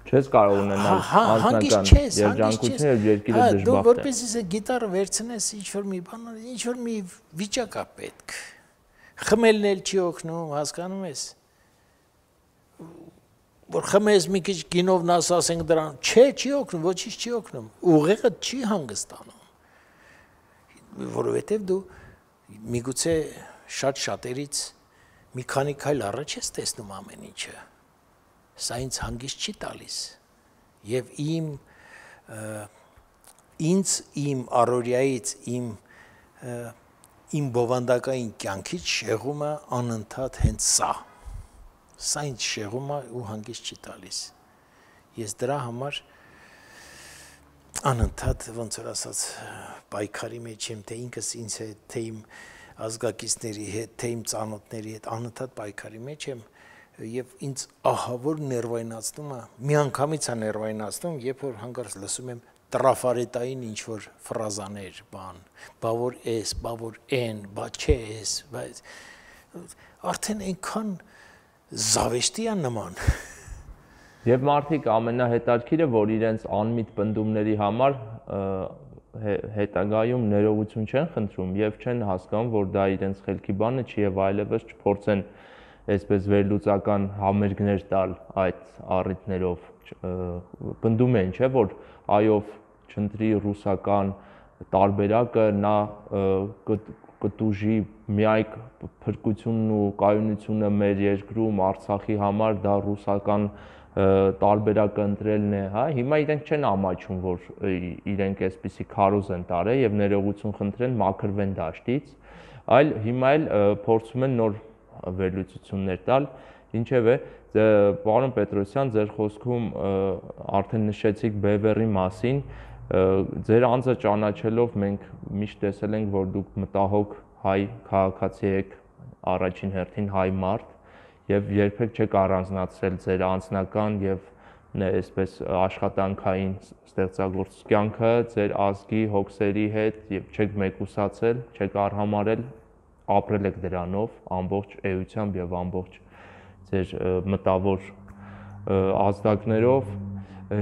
Չես կարող ունենալ անձնական երջանկություն եւ երկիրը դժբախտ է։ Դու որպես είσαι գիտարը վերցնես ինչ-որ մի բան, ինչ-որ մի վիճակ է պետք։ Խմելն էլ չի օգնում, հասկանում ես։ Որ խմես մի քիչ գինով նաս ասենք դրան, չի օգնում, ոչինչ չի օգնում։ Ուղեղը չի հանգստանում։ Որովհետեւ դու միգուցե շատ շատերից մի քանի քայլ առաջ ես տեսնում ամեն ինչը։ Սա ինձ հանգիստ չի տալիս եւ իմ առօրյայից իմ բովանդակային կյանքից շեղումը անընդհատ հենց սա ինձ շեղում է ու հանգիստ չի տալիս ես դրա համար անընդհատ ոնց որ ասած պայքարի մեջ եմ թե ինքս ինձ հետ թե իմ ազգակիցների հետ թե իմ ծանոթների հետ անընդհատ պայքարի մեջ եմ Եվ ինձ ահավոր ներվայնացնում է, միանգամից է ներվայնացնում, երբ որ հանկարծ լսում եմ տրաֆարետային ինչ-որ ֆրազաներ, բան, բա որ էս, բա որ են, բա չէ էս, բայց արդեն այնքան զավեշտի է նման։ Եվ մարդիկ ամենահետաքրքիրը, որ իրենց անմիտ պնդումների համար հետագայում ներողություն չեն խնդրում եւ չեն հասկանում, որ դա իրենց խելքի բանը չի եւ այլևս չփորձեն այսպես վերլուծական համերգներ տալ այդ առիթներով պնդում են, չէ, որ այով չընտրի ռուսական տարբերակը նա կտուժի միայք փրկությունն ու կայունությունը մեր երկրում Արցախի համար դա ռուսական տարբերակը ընտրելն է, հա, հիմա իրենք չեն ամաչում, որ իրենք այսպիսի քարոզ են տարել եւ ներողություն խնդրեն, մաքրվեն դաշտից, այլ հիմա էլ փորձում են նոր վերլուծություններ տալ, ինչևէ, պարոն Պետրոսյան, ձեր խոսքում արդեն նշեցիք Բևեռի մասին, ձեր անձը ճանաչելով մենք միշտ տեսել ենք, որ դուք մտահոգ հայ քաղաքացի եք, առաջին հերթին հայ մարդ, եւ երբեք չեք առանձնացրել ձեր անձնական եւ այսպես աշխատանքային ստեղծագործ կյանքը ձեր ազգի հոգսերի հետ եւ չեք մեկուսացել, չեք արհամարել ապրել եք դրանով ամբողջ էությամբ եւ ամբողջ ձեր մտավոր ազդակներով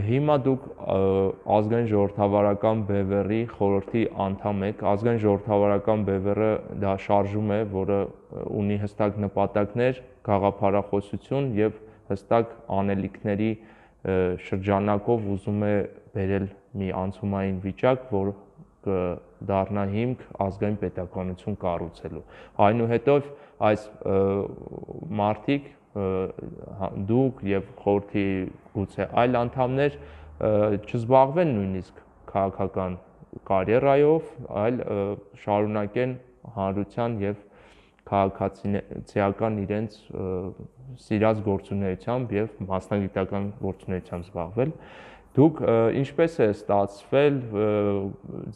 հիմա դուք ազգային ժողովրդավարական բևեռի խորհրդի անդամ եք ազգային ժողովրդավարական բևեռը դա շարժում է որը ունի հստակ նպատակներ գաղափարախոսություն եւ հստակ անելիքների շրջանակով ուզում է բերել մի անցումային վիճակ որ դառնա հիմք ազգային պետականություն կառուցելու։ Այնուհետև այս մարդիկ դուք եւ խորհրդի գուցե այլ անդամներ չզբաղվեն նույնիսկ քաղաքական կարիերայով, այլ շարունակեն հանրության եւ քաղաքացիական իրենց սիրած գործունեությամբ եւ մասնագիտական գործունեությամբ զբաղվել։ Դուք ինչպես է ստացվել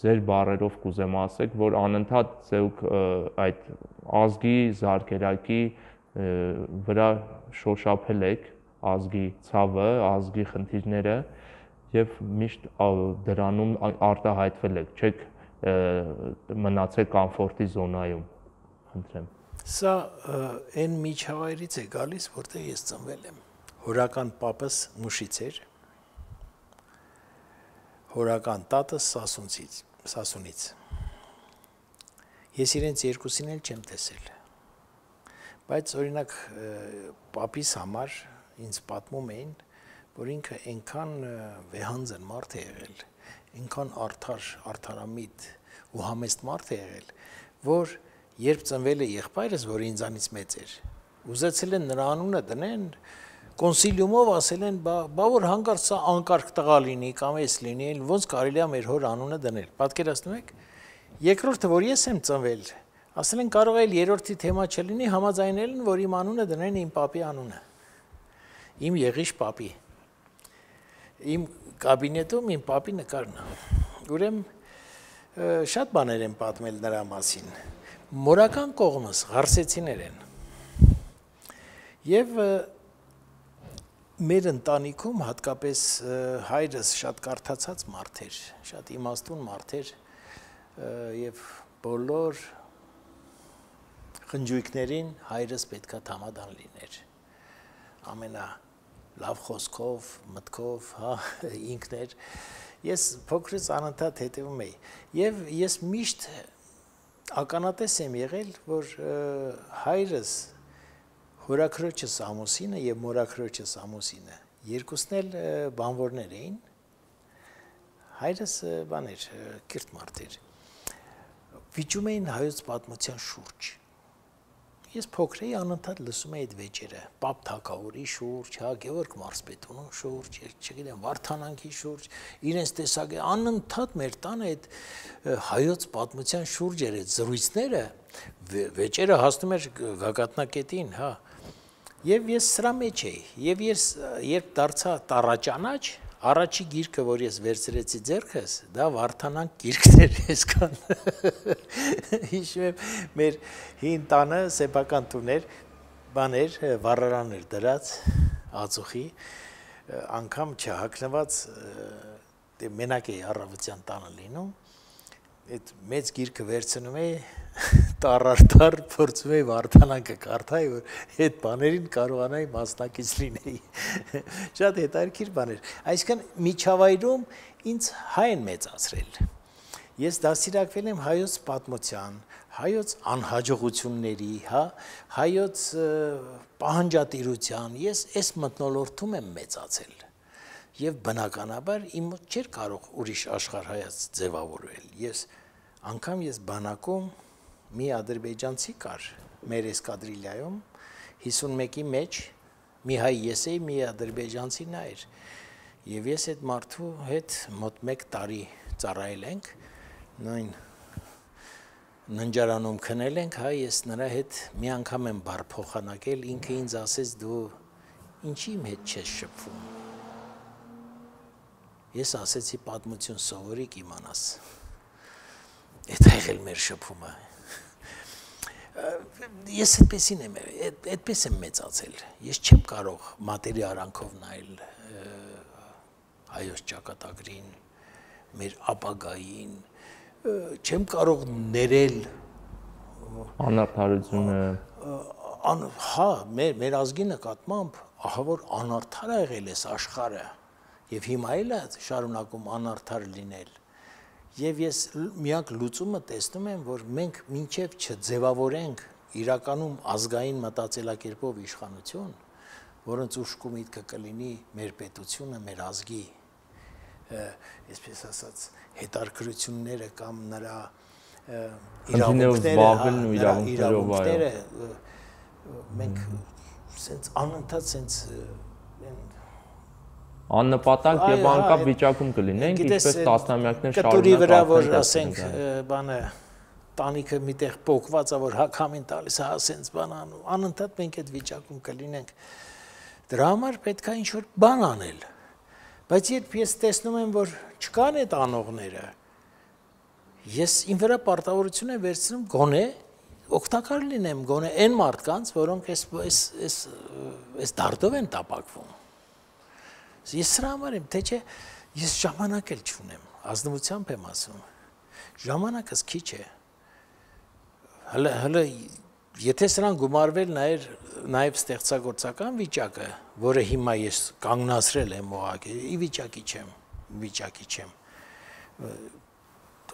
ձեր բառերով կուզեմ ասեք, որ անընդհատ ձեւք այդ ազգի զարգերակի վրա շոշափել եք ազգի ցավը, ազգի խնդիրները եւ միշտ դրանում արտահայտվել եք, չեք մնացել կոմֆորտի զոնայում, խնդրեմ։ Սա այն միջավայրից է գալիս, որտեղ ես ծնվել եմ։ Հորական պապս Մուշից էր, հորական տատս Սասունից։ Ես իրենց երկուսին էլ չեմ տեսել։ Բայց օրինակ պապիս համար ինձ պատմում էին, որ ինքը այնքան վեհանձն մարդ է եղել, այնքան արդարամիտ ու համեստ մարդ է եղել, որ երբ ծնվել է եղբայրս, որ ինձանից մեծ էր, ուզեցել են նրա անունը դնեն, կոնսիլիումով ասել են, բա որ հանկարծ սա անկարգ տղա լինի կամ էս լինի, ոնց կարելի է մեր հոր անունը դնել։ Պատկերացնում եք։ Երկրորդը, որ ես եմ ծնվել, ասել են կարող է երրորդի թեմա չլինի, համաձայնել են, որ իմ անունը դնեն իմ պապի անունը։ Իմ եղիշ պապի։ Իմ կաբինետում իմ պապի նկարն է։ Ուրեմն շատ բաներ եմ պատմել նրա մասին։ Մորական կողմս ղարսեցիներ են։ Եվ մեր ընտանիքում հատկապես հայրս շատ կարդացած մարդ էր, շատ իմաստուն մարդ էր եւ բոլոր խնջույքներին հայրս պետքա համադան լիներ։ Ամենա լավ խոսքով, մտքով, հա, ինքն էր։ Ես փոքրից անընդհատ հետևում էի եւ ես միշտ ականատես եմ եղել, որ հայրս հորաքրոջս ամուսինը եւ մորաքրոջս ամուսինը երկուսն էլ բանվորներ էին։ Հայրս բան էր, կիրթ մարդ էր։ Վիճում էին հայոց պատմության շուրջ։ Ես փոքր էի անընդհատ լսում էի այդ վեճերը, Պապ Թագավորի շուրջ, հա, Գևորգ Մարզպետունու շուրջ, չգիտեմ, Վարդանանքի շուրջ, իրենց տեսակի անընդհատ մեր տանը այդ հայոց պատմության շուրջ էր այդ զրույցները, վեճերը հասնում էր գագաթնակետին, հա։ Եվ ես սրա մեջ էի, եւ ես երբ դարձա տառաճանաչ, առաջի գիրքը, որ ես վերցրեցի ձեռքս, դա Վարդանանք գիրքն էր այսքան։ Հիշում եմ, մեր հին տանը սեփական տուն էր, բաներ, վառարան էր դրած, ածուխի, անգամ չհագնված, մենակ էի առավոտյան տանը լինում, այդ մեծ գիրքը վերցնում էի, տառ փորձում էի Վարդանանքը կարդալ, որ այդ բաներին կարողանայի մասնակից լինեի։ Շատ հետաքրքիր բաներ։ Այսինքն միջավայրում ինձ հայ են մեծացրել։ Ես դաստիարակվել եմ հայոց պատմության, հայոց անհաջողությունների, հա, հայոց պահանջատիրության, ես այս մթնոլորտում եմ մեծացել։ Եվ բնականաբար իմ մոտ չէր կարող ուրիշ աշխարհայաց ձևավորվել։ Անգամ ես բանակում մի ադրբեջանցի կար մեր էսկադրիլիայում 51-ի մեջ մի հայ ես էի, մի ադրբեջանցի նա էր եւ ես այդ մարդու հետ մոտ 1 տարի ծառայել ենք նույն ննջարանում քնել ենք, հա, ես նրա հետ մի անգամ եմ բառ փոխանակել, ինքը ինձ ասեց դու ինչի իմ հետ չես շփվում։ Ես ասեցի պատմություն սովորիկ իմանաս։ Այդ եղել մեր շփումը։ Ես այդպեսին եմ, այդպես եմ մեծացել։ Ես չեմ կարող մատերի արանքով նայել հայոց ճակատագրին, մեր ապագային, չեմ կարող ներել անարդարությունը։ Հա, մեր ազգի նկատմամբ ահա որ անարդար ա եղել այս աշխարհը եւ հիմա էլ է շարունակում անարդար լինել։ Եվ ես միակ լուծումը տեսնում եմ, որ մենք մինչև չձևավորենք իրականում ազգային մտածելակերպով իշխանություն, որոնց ուշքու միտքը կլինի մեր պետությունը, մեր ազգի, այսպես ասած, հետարքրությունները կամ նրա իրավունքները, մենք սենց անընդհատ սենց աննպատակ եւ անկապ վիճակում կլինենք, ինչպես տասնամյակներ շարունակ վրա, որ ասենք, բանը տանիքը միտեղ փոկված է, որ հակամին տալիս է, ասենց բան անում, անընդհատ մենք այդ վիճակում կլինենք։ Դրա համար պետք է ինչ-որ բան անել։ Բայց երբ ես տեսնում եմ, որ չկան այդ անողները, ես իմ վրա պարտավորություն եմ վերցնում գոնե օգտակար լինեմ, գոնե այն մարդկանց, որոնք այս դարդով են տապակվում։ Ես սրա համար եմ, թե չէ, ես ժամանակ էլ չունեմ, ազնվությամբ եմ ասում, ժամանակս քիչ է, հələ եթե սրան գումարվել նաև ստեղծագործական վիճակը, որը հիմա ես կանգնացրել եմ ուղղակի, ի վիճակի չեմ,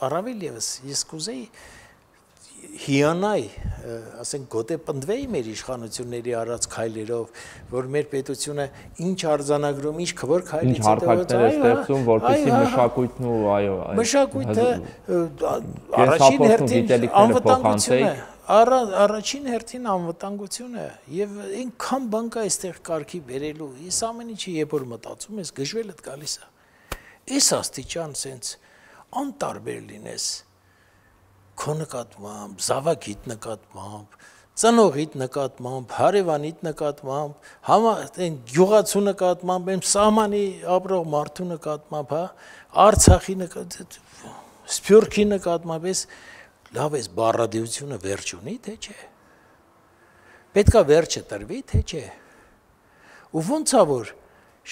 առավել ևս ես կուզեի հիանայի, ասենք գոտե պնդվեի մեր իշխանությունների արած քայլերով, որ մեր պետությունը ինչ արձանագրում, ինչ քվոր քայլից ինչ հարթակներ է ստեղծում, որպեսզի մշակույթն ու մշակույթը առաջին հերթին անվտանգությունը, առաջին հերթին անվտանգությունը եւ այնքան բան կա այստեղ կարգի բերելու, ես ամեն ինչի երբ որ մտածում ես գժվելդ գալիս է, այս աստիճան sense անտարբեր լինես քո նկատմամբ, զավակիդ նկատմամբ, ծնողիդ նկատմամբ, հարևանիդ նկատմամբ, այն գյուղացու նկատմամբ, այն սահմանի ապրող մարդու նկատմամբ, Արցախի նկատմամբ, Սփյուռքի նկատմամբ, լավ էս բառադիությունը վերջ ունի, թե չէ։ Պետքա վերջը տրվի, թե չէ։ Ու ոնց է որ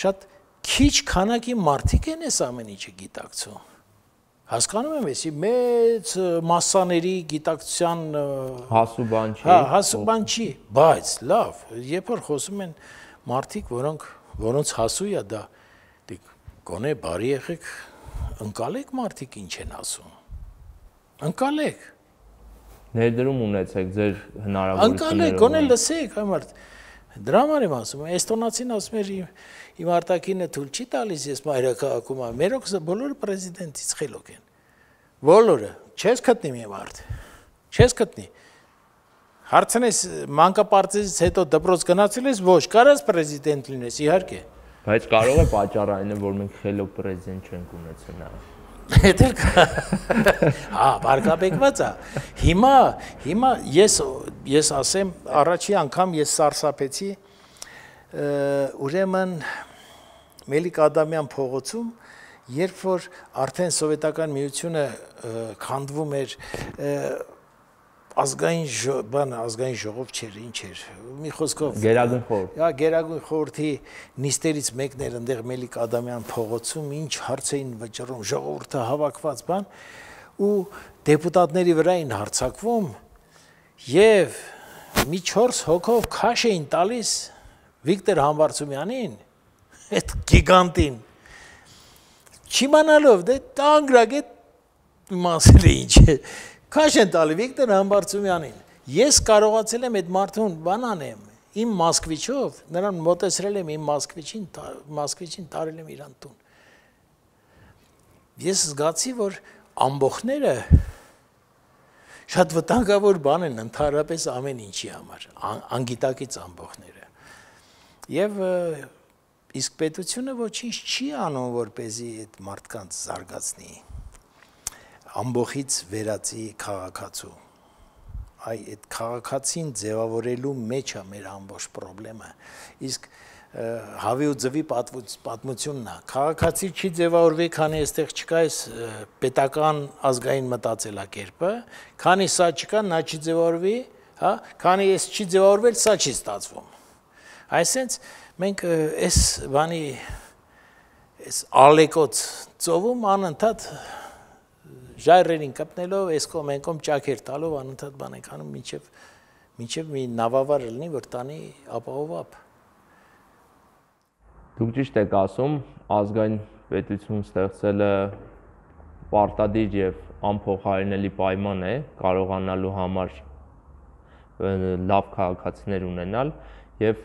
շատ քիչ քանակի մարդիկ են այս ամեն ինչը գիտակցում։ Հասկանում եմ, էսի մեծ մասսաների գիտակցության հասու բան չի։ Հա, հասու բան չի, բայց լավ, երբ որ խոսում են մարդիկ, որոնց հասու է դա, գոնե բարի եղեք, ընկալեք մարդիկ ինչ են ասում։ Ընկալեք։ Ներդրում ունեցեք ձեր հնարավորություններով։ Ընկալեք, գոնե լսեք, այ դրա համար եմ ասում, էստոնացին ասում էր իմ արտակինը թույլ չի տալիս, ես մայրաքաղաքում եմ, մերոքսը բոլորը պրեզիդենտից խելոք են, բոլորը, չես գտնի մի մարդ, չես գտնի, հարցնես մանկապարտեզից հետո դպրոց գնացել ես, ոչ, կարաս պրեզիդենտ լինես, իհարկե։ Բայց կարող է պատճառը այն է, որ մենք խելոք պրեզիդենտ չենք ունեցել նա։ Հետել կա, բարգապեկված է, հիմա ես ասեմ, առաջի անգամ ես սարսափեցի, ուրեմն Մելիք Ադամյան փողոցում, երբ որ արդեն սովետական միությունը քանդվում էր ազգային ժողով չէր, ինչ էր, մի խոսքով Գերագույն խորհուրդ։ Գերագույն խորհրդի նիստերից մեկն էր այնտեղ Մելիք Ադամյան փողոցում, ինչ հարց էին վճռում, ժողովուրդը հավաքված բան, ու դեպուտատների վրա էին հարձակվում եւ մի 4 հոգով քաշ էին տալիս Վիկտոր Համբարձումյանին, այդ գիգանտին, չիմանալով, դե տանգրակ է մասել է ինչ է, քաշ են տալի Վիկտոր Համբարձումյանին, ես կարողացել եմ այդ մարդուն բան անեմ, իմ Մոսկվիչով, նրան մոտեցրել եմ իմ Մոսկվիչին տարել եմ իրան տուն, ես զգացի, որ ամբոխները շատ վտանգավոր բան են ընդհանրապես ամեն ինչի համար, անգիտակից ամբոխները, եւ իսկ պետությունը ոչինչ չի անում, որպեսզի այդ մարդկանց զարգացնի, ամբոխից վերածի քաղաքացու, այդ քաղաքացին ձևավորելու մեջ է մեր ամբողջ խնդրեմը, իսկ հավի ու ձվի պատմությունն է, քաղաքացի չի ձևավորվի, քանի այստեղ չկա այս պետական ազգային մտածելակերպը, քանի սա չկա, նա չի ձևավորվի, հա, քանի այս չի ձևավորվել, սա չի ստացվում, այսինքն մենք այս բանի այս ալեկոց ծովում անընդհատ ժայռերին կպնելով, այս կողմ այն կողմ ճաքեր տալով անընդհատ բան ենք անում, մինչև մի նավավար լինի, որ տանի ապահով ապ։ Դուք ճիշտ եք ասում, ազգային պետություն ստեղծելը պարտադիր եւ անփոխարինելի պայման է կարողանալու համար լավ քաղաքացիներ ունենալ եւ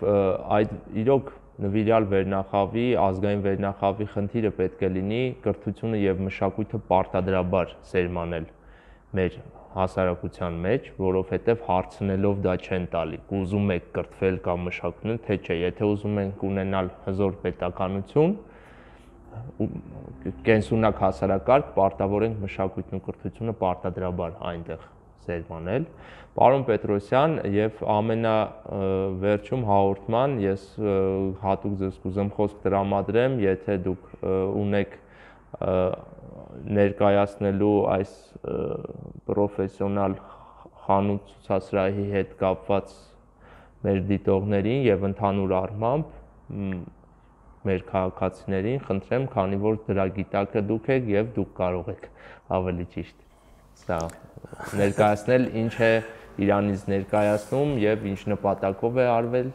այդ իրոք նվիրյալ վերնախավի, ազգային վերնախավի խնդիրը պետք է լինի կրթությունը եւ մշակույթը պարտադրաբար սերմանել մեր հասարակության մեջ, որովհետեւ հարցնելով դա չեն տալի։ Ուզում եք կրթվել կամ մշակույթը, թե չէ, եթե ուզում ենք ունենալ հզոր պետականություն, կենսունակ հասարակարգ, պարտավոր ենք մշակույթն ու կրթությունը պարտադրաբար այնտեղ սերմանել։ Պարոն Պետրոսյան, եւ ամենավերջում հաղորդման ես հատուկ ձեզ կուզեմ խոսք տրամադրեմ, եթե դուք ունեք ներկայացնելու այս պրոֆեսիոնալ խանութ ցուցասրահի հետ կապված մեր դիտողներին եւ ընդհանուր առմամբ մեր քաղաքացիներին խնդրեմ, քանի որ դրա գիտակը դուք եք եւ դուք կարող եք ավելի ճիշտ սա ներկայացնել, ինչ է Իրանից ներկայացնում եւ ինչ նպատակով է արվել։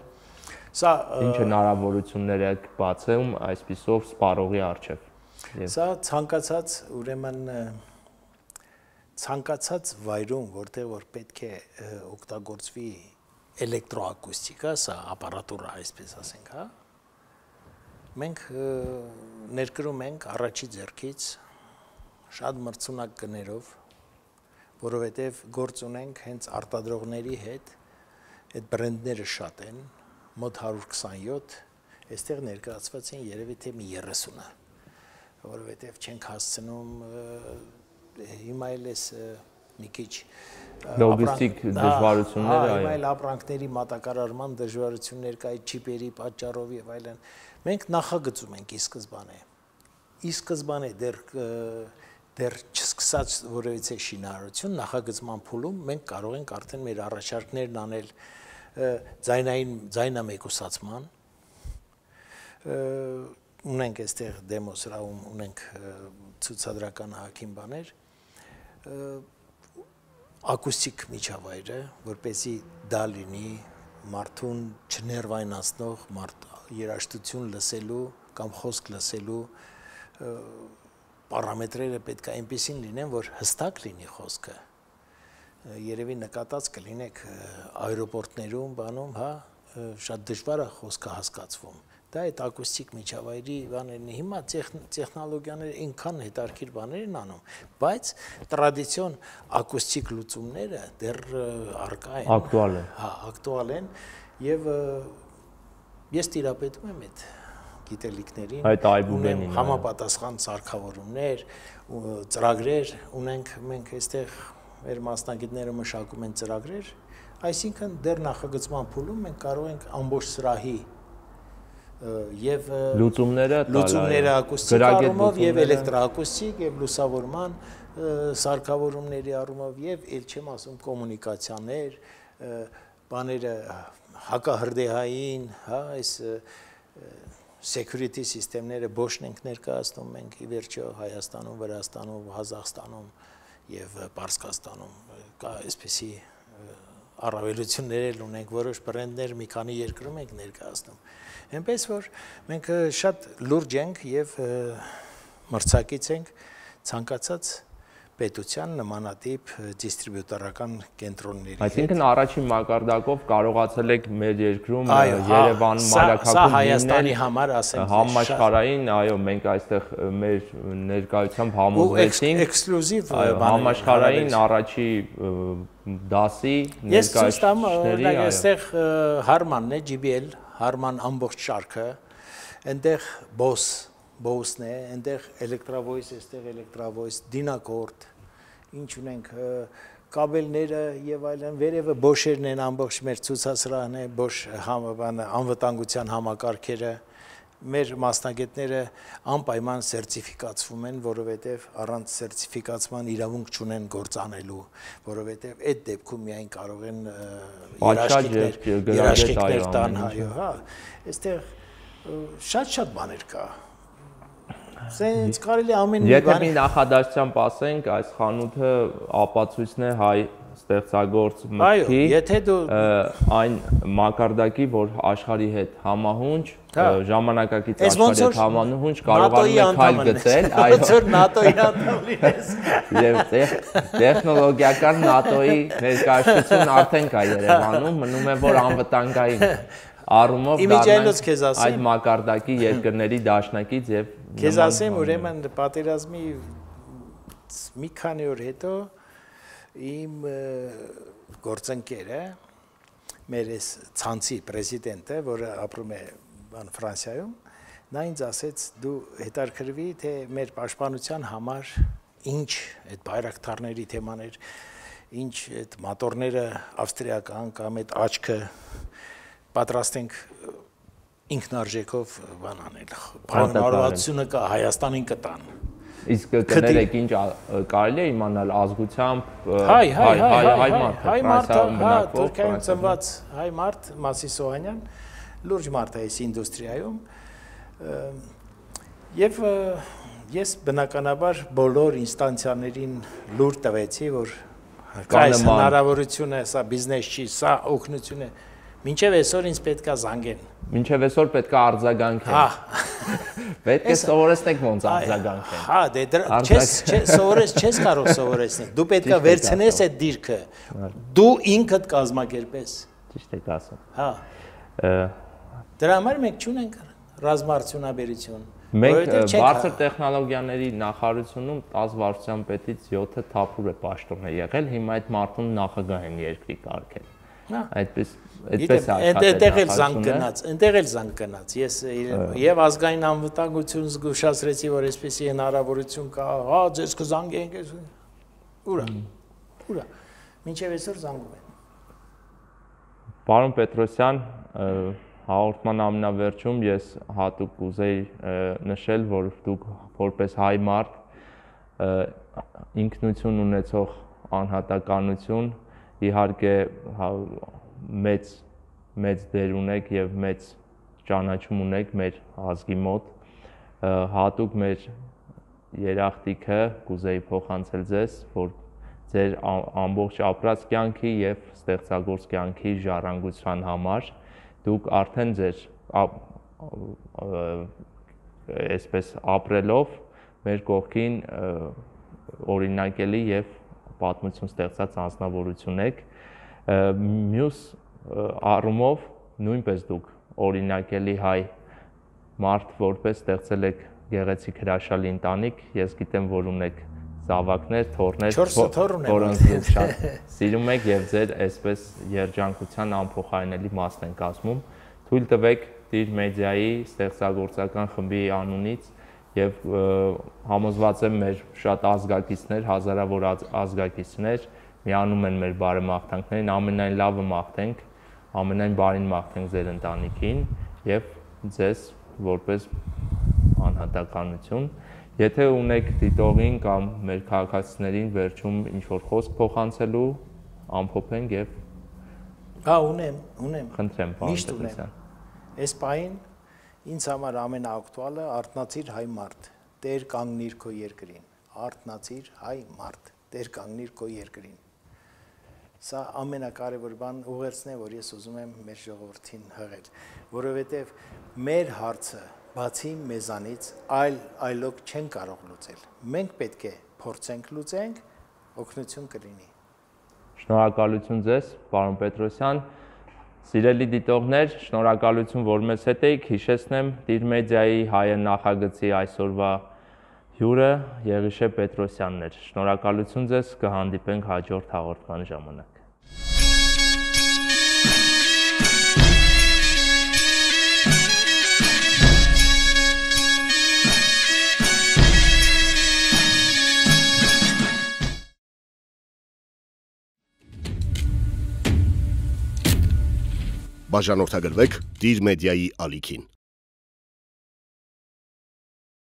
Սա ինչ հնարավորություններ է բացում այսպիսով սպառողի առջև։ Սա ցանկացած, ուրեմն ցանկացած վայրում, որտեղ որ պետք է օգտագործվի էլեկտրոակուստիկա, սա ապարատուրա, այսպես ասենք, հա։ Մենք ներկրում ենք առաջի ձեռքից շատ մրցունակ գներով, որովհետև գործ ունենք հենց արտադրողների հետ, այդ բրենդները շատ են, մոտ 127, այստեղ ներկայացված են երևի թե մի 30-ը, որովհետև չենք հասցնում հիմա էլ էս մի քիչ լոգիստիկ դժվարություններ, այո, այլ ապրանքների մատակարարման դժվարություններ կա այդ չիպերի պատճառով եւ այլն։ Մենք նախագծում ենք ի սկզբանե դեռ չսկսած որևիցե շինարարություն նախագծման փուլում մենք կարող ենք արդեն մեր առաջարկներն անել ձայնամեկուսացման, ունենք այստեղ դեմո սրահում ունենք ցուցադրական հակին բաներ, ակուստիկ միջավայրը, որպեսզի դա լինի մարդուն չներվայնացնող, երաժշտություն լսելու կամ խոսք լսելու պարամետրերը պետք է այնպեսին լինեն, որ հստակ լինի խոսքը։ Երևի նկատած կլինեք աերոպորտներում, բանում, հա, շատ դժվար է խոսքը հասկացվում։ Դա այդ ակուստիկ միջավայրի բաներն է։ Հիմա տեխնոլոգիաները այնքան հետարքիր բաներ են անում, բայց տրադիցիոն ակուստիկ լուծումները դեռ առկա են։ Ակտուալ են։ Հա, ակտուալ են եւ ես տիրապետում եմ այդ գիտելիքներին, ունենք համապատասխան սարքավորումներ, ծրագրեր ունենք, մենք այստեղ մեր մասնագետները մշակում են ծրագրեր, այսինքն դեռ նախագծման փուլում մենք կարող ենք ամբողջ սրահի եւ լուծումները ակուստիկ առումով եւ էլեկտրոակուստիկ եւ լուսավորման սարքավորումների առումով եւ ել չեմ ասում կոմունիկացիաներ, բաները հակահրդեհային, հա, այս security սիստեմները Bosch-ն ենք ներկայացնում մենք ի վերջո Հայաստանում, Վրաստանում, Ղազախստանում եւ Պարսկաստանում կա այսպիսի առավելություններ ունենք, որոշ բրենդներ մի քանի երկրում ենք ներկայացնում։ Այնպես որ մենք շատ լուրջ ենք եւ մրցակից ենք ցանկացած պետության նմանատիպ դիստրիբյուտորական կենտրոնների։ Այսինքն առաջին մակարդակով կարողացել եք մեր երկրում Երևանում, Մայրաքաղաքում սա Հայաստանի համար ասենք համաշխարհային, այո, մենք այստեղ մեր ներկայությամբ համոզվեցինք էքսկլյուզիվ համաշխարհային առաջի դասի ներկայացուցիչների, այո։ Այստեղ Harman-ն է, JBL, Harman ամբողջ շարքը, այնտեղ Bose-ն է, այնտեղ Electravoice, այստեղ Electravoice, Dynacord, ինչ ունենք կաբելները եւ այլն, վերևը Bosch-երն են, ամբողջ մեր ցուցասրահն է, Bosch անվտանգության համակարգերը, մեր մասնագետները անպայման սերտիֆիկացվում են, որովհետեւ առանց սերտիֆիկացման իրավունք չունեն գործ անելու, որովհետեւ այդ դեպքում միայն կարող են երաշխիքներ տան, այո, հա, այստեղ շատ բաներ կա։ Սենց կարելի ամեն մի բան։ Եթե մի նախադասությամբ ասենք, այս խանութը ապացույցն է հայ ստեղծագործ մտքի, այն մակարդակի, որ աշխարհի հետ համահունչ, ժամանակակից աշխարհի հետ համահունչ կարողանում է քայլ գցել, այո, որ ՆԱՏՕ-ի անդամ լինես։ Եվ տեխնոլոգիական ՆԱՏՕ-ի ներկայացուցիչն արդեն կա Երևանում, մնում է որ անվտանգային առումով դառնանք այդ մակարդակի երկրների դաշնակից եւ Քեզ ասեմ, ուրեմն պատերազմի մի քանի օր հետո իմ գործընկերը, մեր այս ցանցի պրեզիդենտը, որը ապրում է Ֆրանսիայում, նա ինձ ասեց՝ դու հետարքրվի, թե մեր պաշտպանության համար ինչ այդ բայրակտարների թեմաներ, ինչ այդ մոտորները ավստրիական կամ այդ աչքը պատրաստենք ինքնարժեքով բան անել։ Բարենպասությունը կա Հայաստանին կտան։ Իսկ կներեք ինչ կարելի է իմանալ ազգությամբ հայ մարդ, Թուրքիայում ծնված հայ մարդ Մասի Սոհանյան, լուրջ մարդ է այս ինդուստրիայում, եւ ես բնականաբար բոլոր ինստանցիաներին լուր տվեցի, որ կա այս հնարավորությունը, սա բիզնես չի, սա օգնություն է, մինչև այսօր ինձ պետք է զանգեն։ Մինչև այսօր պետք է արձագանքեն։ Պետք է սովորեցնեք ոնց արձագանքեն։ Հա, դե չես կարող սովորեցնել։ Դու պետք է վերցնես այդ դիրքը։ Դու ինքդ կազմակերպես։ Ճիշտ եք ասում։ Հա։ Դրա համար մենք չունենք ռազմարտությունաբերություն։ Մենք բարձր տեխնոլոգիաների նախարարությունում 10 վարչության պետից 7-ը թափուր է պաշտոն է եղել, հիմա այդ մարդուն նախագահ են երկրի կարգել։ Այդպես է աշխատել։ Այնտեղ էլ զանգ գնաց։ Ես եւ ազգային անվտանգություն զգուշացրեցի, որ այսպեսի հնարավորություն կա, հա, ձեզ կզանգենք։ Ուրա։ Մինչև այսօր զանգում են։ Պարոն Պետրոսյան, հաղորդման ամենավերջում ես հատուկ կուզեի նշել, որ դուք որպես հայ մարդ ինքնություն ունեցող անհատականություն, իհարկե մեծ դեր ունեք եւ մեծ ճանաչում ունեք մեր ազգի մոտ, հատուկ մեր երախտիկը կուզեի փոխանցել ձեզ, որ ձեր ամբողջ ապրած կյանքի եւ ստեղծագործ կյանքի ժառանգության համար դուք արդեն ձեր այսպես ապրելով մեր կողքին օրինակելի եւ պատմություն ստեղծած անձնավորություն եք, մյուս առումով նույնպես դուք օրինակելի հայ մարդ որպես ստեղծել եք գեղեցիկ հրաշալի ընտանիք, ես գիտեմ, որ ունեք զավակներ, թոռներ, որոնց դուք շատ սիրում եք եւ ձեր այսպես երջանկության անփոխարինելի մասն են կազմում։ Թույլ տվեք Դիր մեդիայի ստեղծագործական խմբի անունից եւ համոզված եմ մեր շատ ազգակիցներ, հազարավոր ազգակիցներ միանում են մեր բարեմաղթանքներին, ամենայն լավը մաղթենք, ամենայն բարին մաղթենք ձեր ընտանիքին եւ ձեզ որպես անհատականություն։ Եթե ունեք դիտողին կամ մեր քաղաքացիներին վերջում ինչ-որ խոսք փոխանցելու, ամփոփենք եւ Հա, ունեմ։ Խնդրեմ, պարոն Պետրոսյան։ Այս պահին ինձ համար ամենաակտուալը արթնացիր հայ մարդ, Տեր կանգնիր քո երկրին։ Արթնացիր հայ մարդ, Տեր կանգնիր քո երկրին։ Սա ամենակարևոր բան ուղերձն է, որ ես ուզում եմ մեր ժողովրդին հղել, որովհետև մեր հարցը բացի մեզանից այլոք չեն կարող լուծել։ Մենք պետք է փորձենք լուծենք, օգնություն կլինի։ Շնորհակալություն ձեզ, պարոն Պետրոսյան։ Սիրելի դիտողներ, շնորհակալություն, որ մեզ հետ եք, հիշեցնեմ Դիր մեդիայի հայոց նախագծի այսօրվա հյուրը Եղիշե Պետրոսյանն էր։ Շնորհակալություն ձեզ, կհանդիպենք հաջորդ հաղորդման ժամանակ։ Բաժանորդագրվեք Դիր մեդիայի ալիքին։